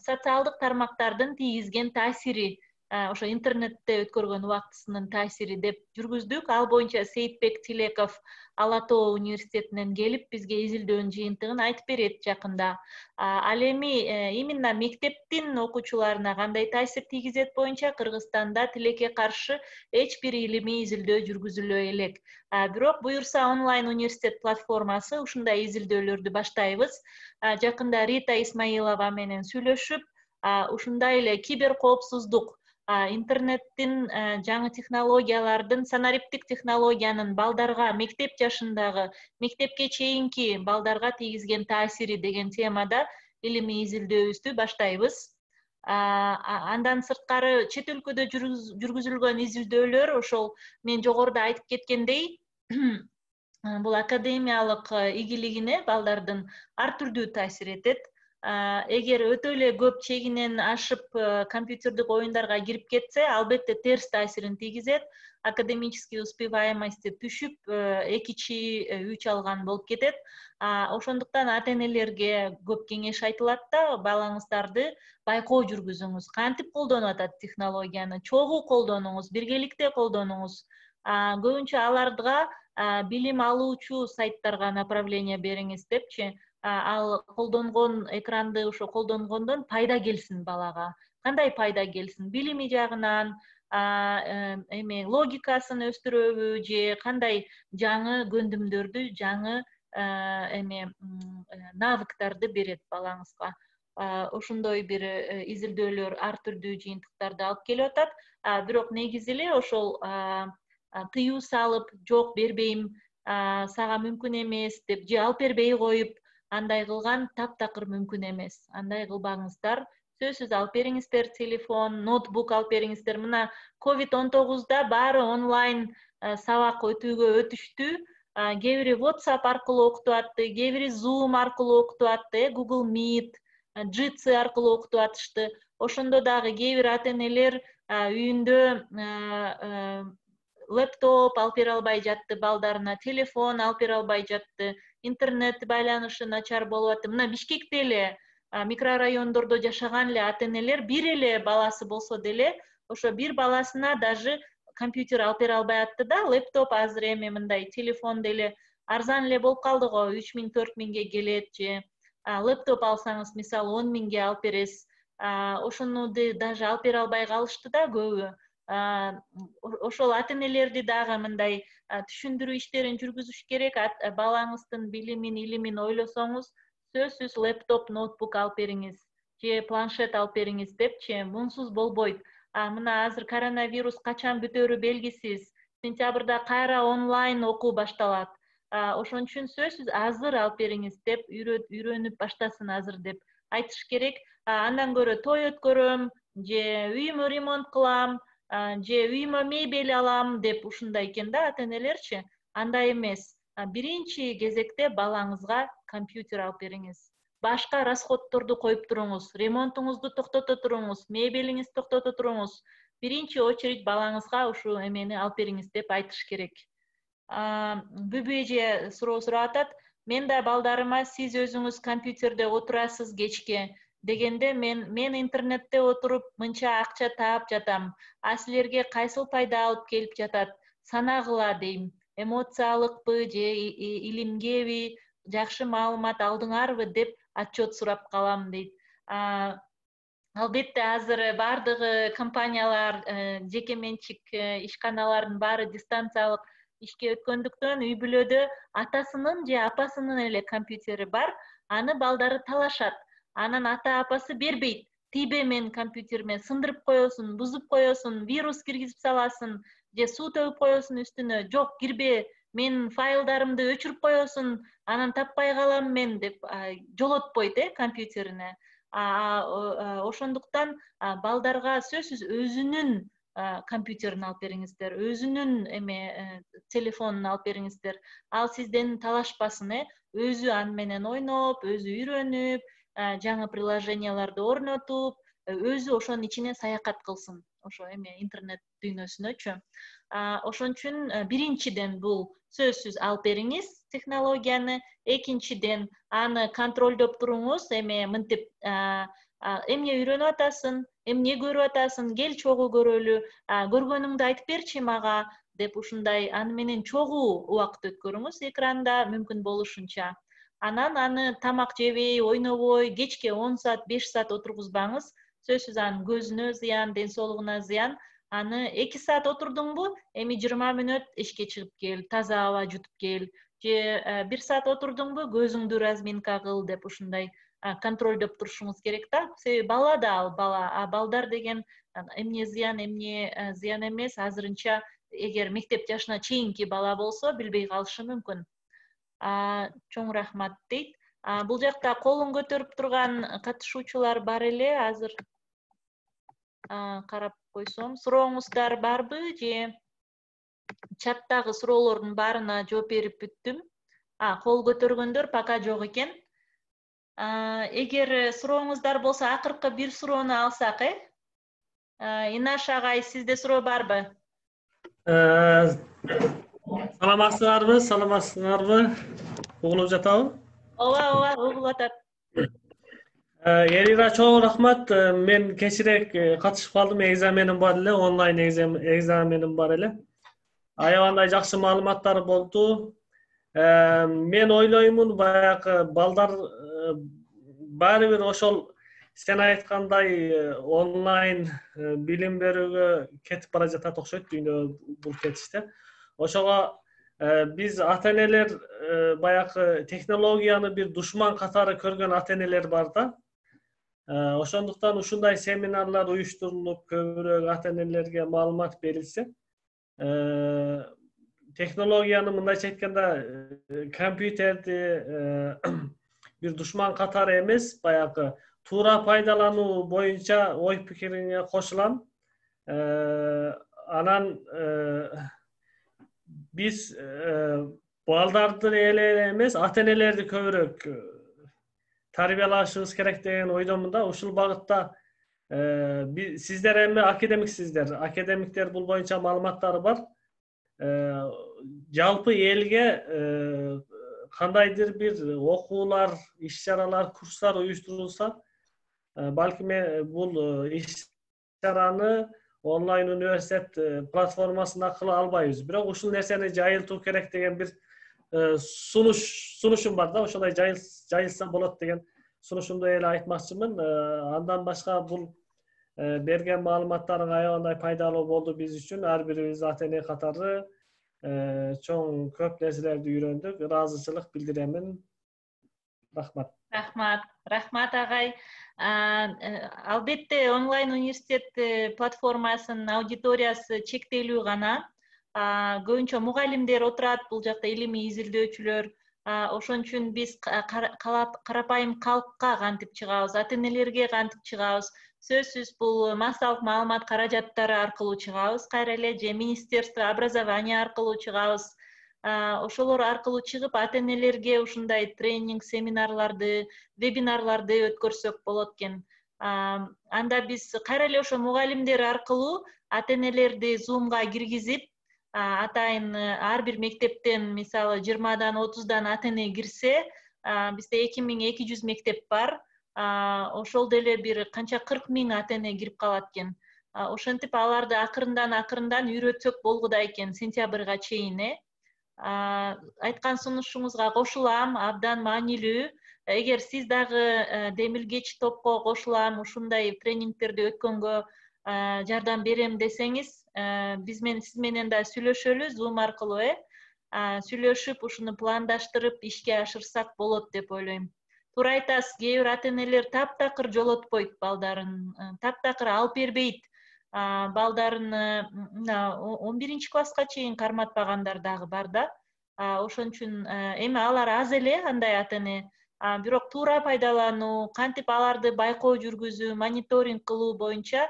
социалдык тармактардын тийгизген таасири, ошо интернетте өткөргөн убактысынын таасири деп жүргүздүк. Ал боюнча Сейитбек Тилеков Ала Тоо университетинен келип бизге изилдөөнүн жыйынтыгын айтып берет жакында. Ал эми именно мектептин окуучуларына кандай таасир тийгизет боюнча Кыргызстанда тилекке каршы эч бир илимий изилдөө жүргүзүлө элек. Бирок буюрса онлайн университет платформасы ушундай изилдөөлөрдү баштайбыз. Жакында Рита Исмаилова менен сүйлөшүп, ушундай эле киберкоопсуздук, интернеттин, жаңы технологиялардын, санариптик технологиянын балдарга, мектеп жашындагы, мектепке чейинки балдарга тийгизген таасири деген темада илимий изилдөөбүздү баштайбыз. Андан сырткары чет өлкөдө жүргүзүлгөн изилдөөлөр, ошол мен жогоруда айтып кеткендей, бул академиялык ийгилигине балдардын ар түрдүү таасир этет. Эгер өтө эле көп чегинен ашып компьютердик оюндарга кирип кетсе, албетте терс таасирин тийгизет. Академический успеваемости түшүп, эки чи үч алган болуп кетет. Ошондуктан ата-энелерге көп кеңеш айтылат да, балаңыздарды байкоо жүргүзүңүз. Кантип колдонуп атат технологияны? Чогуу колдонуңуз, биргеликте колдонуңуз. Көбүнчө аларга билим алуучу сайттарга направление бериңиз депчи. Ал колдонгон экранды ошо колдонгондон пайда келсин балага. Кандай пайда келсин? Билими жагынан, эме логикасын өстүрөбү же кандай жаңы көндүмдөрдү, жаңы эме навыктарды берет балаңызга. Ошондой бир изилдөөлөр ар түрдүү жыйынтыктарды алып келип атат. Бирок негизи эле ошол тыюу салып, жок бербейм, сага мүмкүн эмес деп же алып бербей коюп, андай кылган таптакыр мүмкүн эмес. Андай кылбаңыздар. Сөзсүз алып бериңиздер телефон, ноутбук алып бериңиздер. Мына ковид он тогузда баары онлайн сабак өтүүгө өтүштү. Кээ бири WhatsApp аркылуу окутуп атты, кээ бири Zoom аркылуу окутуп атты, Google Meet, Jitsi аркылуу окутуп атышты. Ошондо дагы кээ бир ата-энелер үйүндө лептоп алып бере албай жатты балдарына, телефон алып бере албай жатты, интернет байланышы начар болуп атты. Мына Бишкекте эле микрорайондордо жашаган эле ата-энелер бир эле баласы болсо деле ошо бир баласына даже компьютер алып бере албай атты да, лептоп азыр эми мындай телефон деле арзан эле болуп калды го, үч миң төрт миңге келет, же лептоп алсаңыз мисалы он миңге алып бересиз. Ошону даже алып бере албай калышты да көбү. Ошол ата-энелерди дагы мындай түшүндүрүү иштерин жүргүзүш керек. Балаңыздын билимин, илимин ойлосоңуз, сөзсүз лептоп, ноутбук алып бериңиз, же планшет алып бериңиз депчи, мунсуз болбойт. Мына азыр коронавирус качан бүтөрү белгисиз. Сентябрда кайра онлайн окуу башталат. Ошон үчүн сөзсүз азыр алып бериңиз деп үйрөнүп баштасын азыр деп айтыш керек. Андан көрө той өткөрөм, же үйүмө ремонт кылам, же үйүмө мебель алам деп ушундай экен да ата-энелерчи. Андай эмес. Биринчи кезекте балаңызга компьютер алып бериңиз. Башка расходторду коюп туруңуз, ремонтуңузду токтото туруңуз, мебелиңизди токтото туруңуз. Биринчи очередь балаңызга ушу эмени алып бериңиз деп айтыш керек. Бүбү эже суроо сурап атат. Мен да балдарыма сиз өзүңүз компьютерде отурасыз кечке дегенде мен мен интернетте отуруп мынча акча таап жатам. А силерге кайсыл пайда алып келип жатат? Санагыла дейм. Эмоциялыкпы же илимгеби, жакшы маалымат алдыңарбы деп отчет сурап калам дейт. Албетте азыр бардыгы компаниялар, жеке менчик ишканалардын баары дистанциялык ишке өткөндүктөн үй бүлөдө атасынын же апасынын эле компьютери бар, аны балдары талашат. Анан ата апасы бербейт. Тийбе менин компьютериме, сындырып коесуң, бузуп коесуң, вирус киргизип саласың, же суу төгүп коесуң үстүнө. Жок, кирбе, менин файлдарымды өчүрүп коесуң, анан таппай калам мен деп жолотпойт э компьютерине. Ошондуктан балдарга сөзсүз өзүнүн компьютерин алып бериңиздер, өзүнүн эме телефонун алып бериңиздер. Ал сизден талашпасын, э өзү аны менен ойноп, өзү үйрөнүп, жаңы приложенияларды орнотуп, өзү ошонун ичине саякат кылсын. Ошо эме интернет дүйнөсүнөчү. Ошон үчүн биринчиден бул сөзсүз алып бериңиз технологияны, экинчиден аны контролдоп туруңуз, эме мынтип эмне үйрөнүп атасың, эмне көрүп атасың, кел чогуу көрөлү, көргөнүңдү айтып берчи мага деп ушундай аны менен чогуу убакыт өткөрүңүз экранда мүмкүн болушунча. Анан аны тамак жебей, ойнобой, кечке он саат, беш саат отургузбаңыз. Сөзсүз анын көзүнө зыян, ден соолугуна зыян. Аны эки саат отурдуңбу, эми жыйырма мүнөт эшикке чыгып кел, таза аба жутуп кел. Же бир саат отурдуңбу, көзүңдү разминка кыл деп ушундай контролдоп турушуңуз керек да. Себеби бала да ал бала, а балдар деген эмне зыян, эмне зыян эмес, азырынча эгер мектеп жашына чейинки бала болсо билбей калышы мүмкүн. Чоң рахмат дейт. Бул жакта колун көтөрүп турган катышуучулар бар эле, азыр карап койсом. Сурооңуздар барбы же чаттагы суроолордун баарына жооп берип бүттүм. Кол көтөргөндөр пока жок экен. Эгер сурооңуздар болсо, акыркы бир суроону алсак, э? Инаш агай, сизде суроо барбы?
Саламатсыздарбы, саламатсыздарбы? Угулуп жатабы?
Ооба, ооба, угулуп атат.
Элира, чоң рахмат. Мен кечирээк катышып калдым, экзаменим бар эле, онлайн экзаменим бар эле. Аябандай жакшы маалыматтар болду. Мен ойлоймун, баягы балдар баары бир ошол сен айткандай онлайн билим берүүгө кетип бара жатат окшойт, дүйнө бул кетиште. Ошого биз ата-энелер баягы технологияны бир душман катары көргөн ата-энелер бар да. Ошондуктан ушундай семинарлар уюштурулуп, көбүрөөк ата-энелерге маалымат берилсе, технологияны мындайча айтканда компьютерди бир душман катары эмес, баягы туура пайдалануу боюнча ой пикириңе кошулам. Анан биз балдарды эле эмес, ата-энелерди көбүрөөк тарбиялашыбыз керек деген ойдомун да. Ушул багытта сиздер эми академиксиздер. Академиктер бул боюнча маалыматтары бар. жалпы элге кандайдыр бир окуулар, иш-чаралар, курстар уюштурулса, балким бул иш-чараны онлайн университет платформасында кыла албайбыз. Бирок ушул нерсени жайылтуу керек деген бир сунуш сунушум бар да, ошондой жайылса болот деген сунушумду эле айтмакчымын. Андан башка бул берген маалыматтарың аябандай пайдалуу болду биз үчүн. Ар бирибиз ата-эне катары чоң көп нерселерди үйрөндүк. Ыраазычылык билдиремин. Рахмат.
Рахмат. Рахмат агай. Албетте онлайн университет платформасынын аудиториясы чектелүү гана. Көбүнчө мугалимдер отурат, бул жакта илимий изилдөөчүлөр. Ошон үчүн биз карапайым калкка кантип чыгабыз, ата-энелерге кантип чыгабыз, сөзсүз бул массалык маалымат каражаттары аркылуу чыгабыз, кайра эле же Министерство образования аркылуу чыгабыз. Ошолор аркылуу чыгып, ата-энелерге ушундай тренинг, семинарларды, вебинарларды өткөрсөк болот экен. Анда биз кайра эле ошо мугалимдер аркылуу ата-энелерди Zoom'га киргизип, атайын ар бир мектептен мисалы жыйырмадан отуздан ата-эне кирсе, бизде эки миң эки жүз мектеп бар. Ошол деле бир канча кырк миң ата-эне кирип калат экен. Ошентип аларды акырындан акырындан үйрөтсөк болгудай экен сентябрга чейин. Айткан сунушуңузга кошулам, абдан маанилүү. Эгер сиз дагы демилгеч топко кошулам, ушундай тренингтерди өткөнгө жардам берем десеңиз, биз менен сиз менен да сүйлөшөлү Zoom аркылуу, э? Сүйлөшүп, ушуну пландаштырып ишке ашырсак болот деп ойлойм. Туура айтасыз, кээ бир ата-энелер таптакыр жолотпойт балдарын, таптакыр алып бербейт. Балдарын он биринчи класска чейин карматпагандар дагы бар да. Ошон үчүн эми алар аз эле андай ата-эне. Бирок туура пайдалануу, кантип аларды байкоо жүргүзүү, мониторинг кылуу боюнча,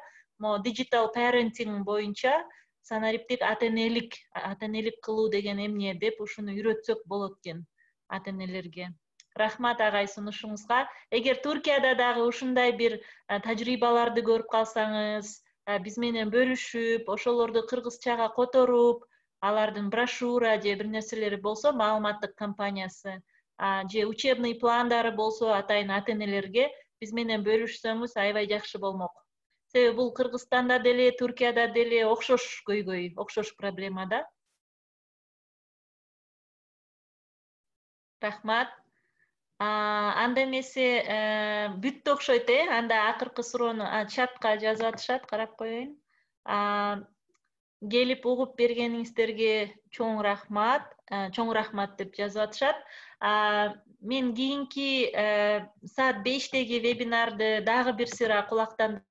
digital parenting боюнча санариптик ата-энелик, ата-энелик кылуу деген эмне деп ушуну үйрөтсөк болот экен ата-энелерге. Рахмат агай сунушуңузга. Эгер Туркияда дагы ушундай бир тажрыйбаларды көрүп калсаңыз, биз менен бөлүшүп, ошолорду кыргызчага которуп, алардын брошюра же бир нерселери болсо, маалыматтык компаниясы, же учебный пландары болсо, атайын ата-энелерге биз менен бөлүшсөңүз аябай жакшы болмок. Себеби бул Кыргызстанда деле, Туркияда деле окшош көйгөй, окшош проблема да. Рахмат. Анда эмесе бүттү окшойт, э? Анда акыркы суроону чатка жазып атышат, карап коеюн. Келип угуп бергениңиздерге чоң рахмат, чоң рахмат деп жазып атышат. Мен кийинки саат бештеги вебинарды дагы бир сыйра кулактан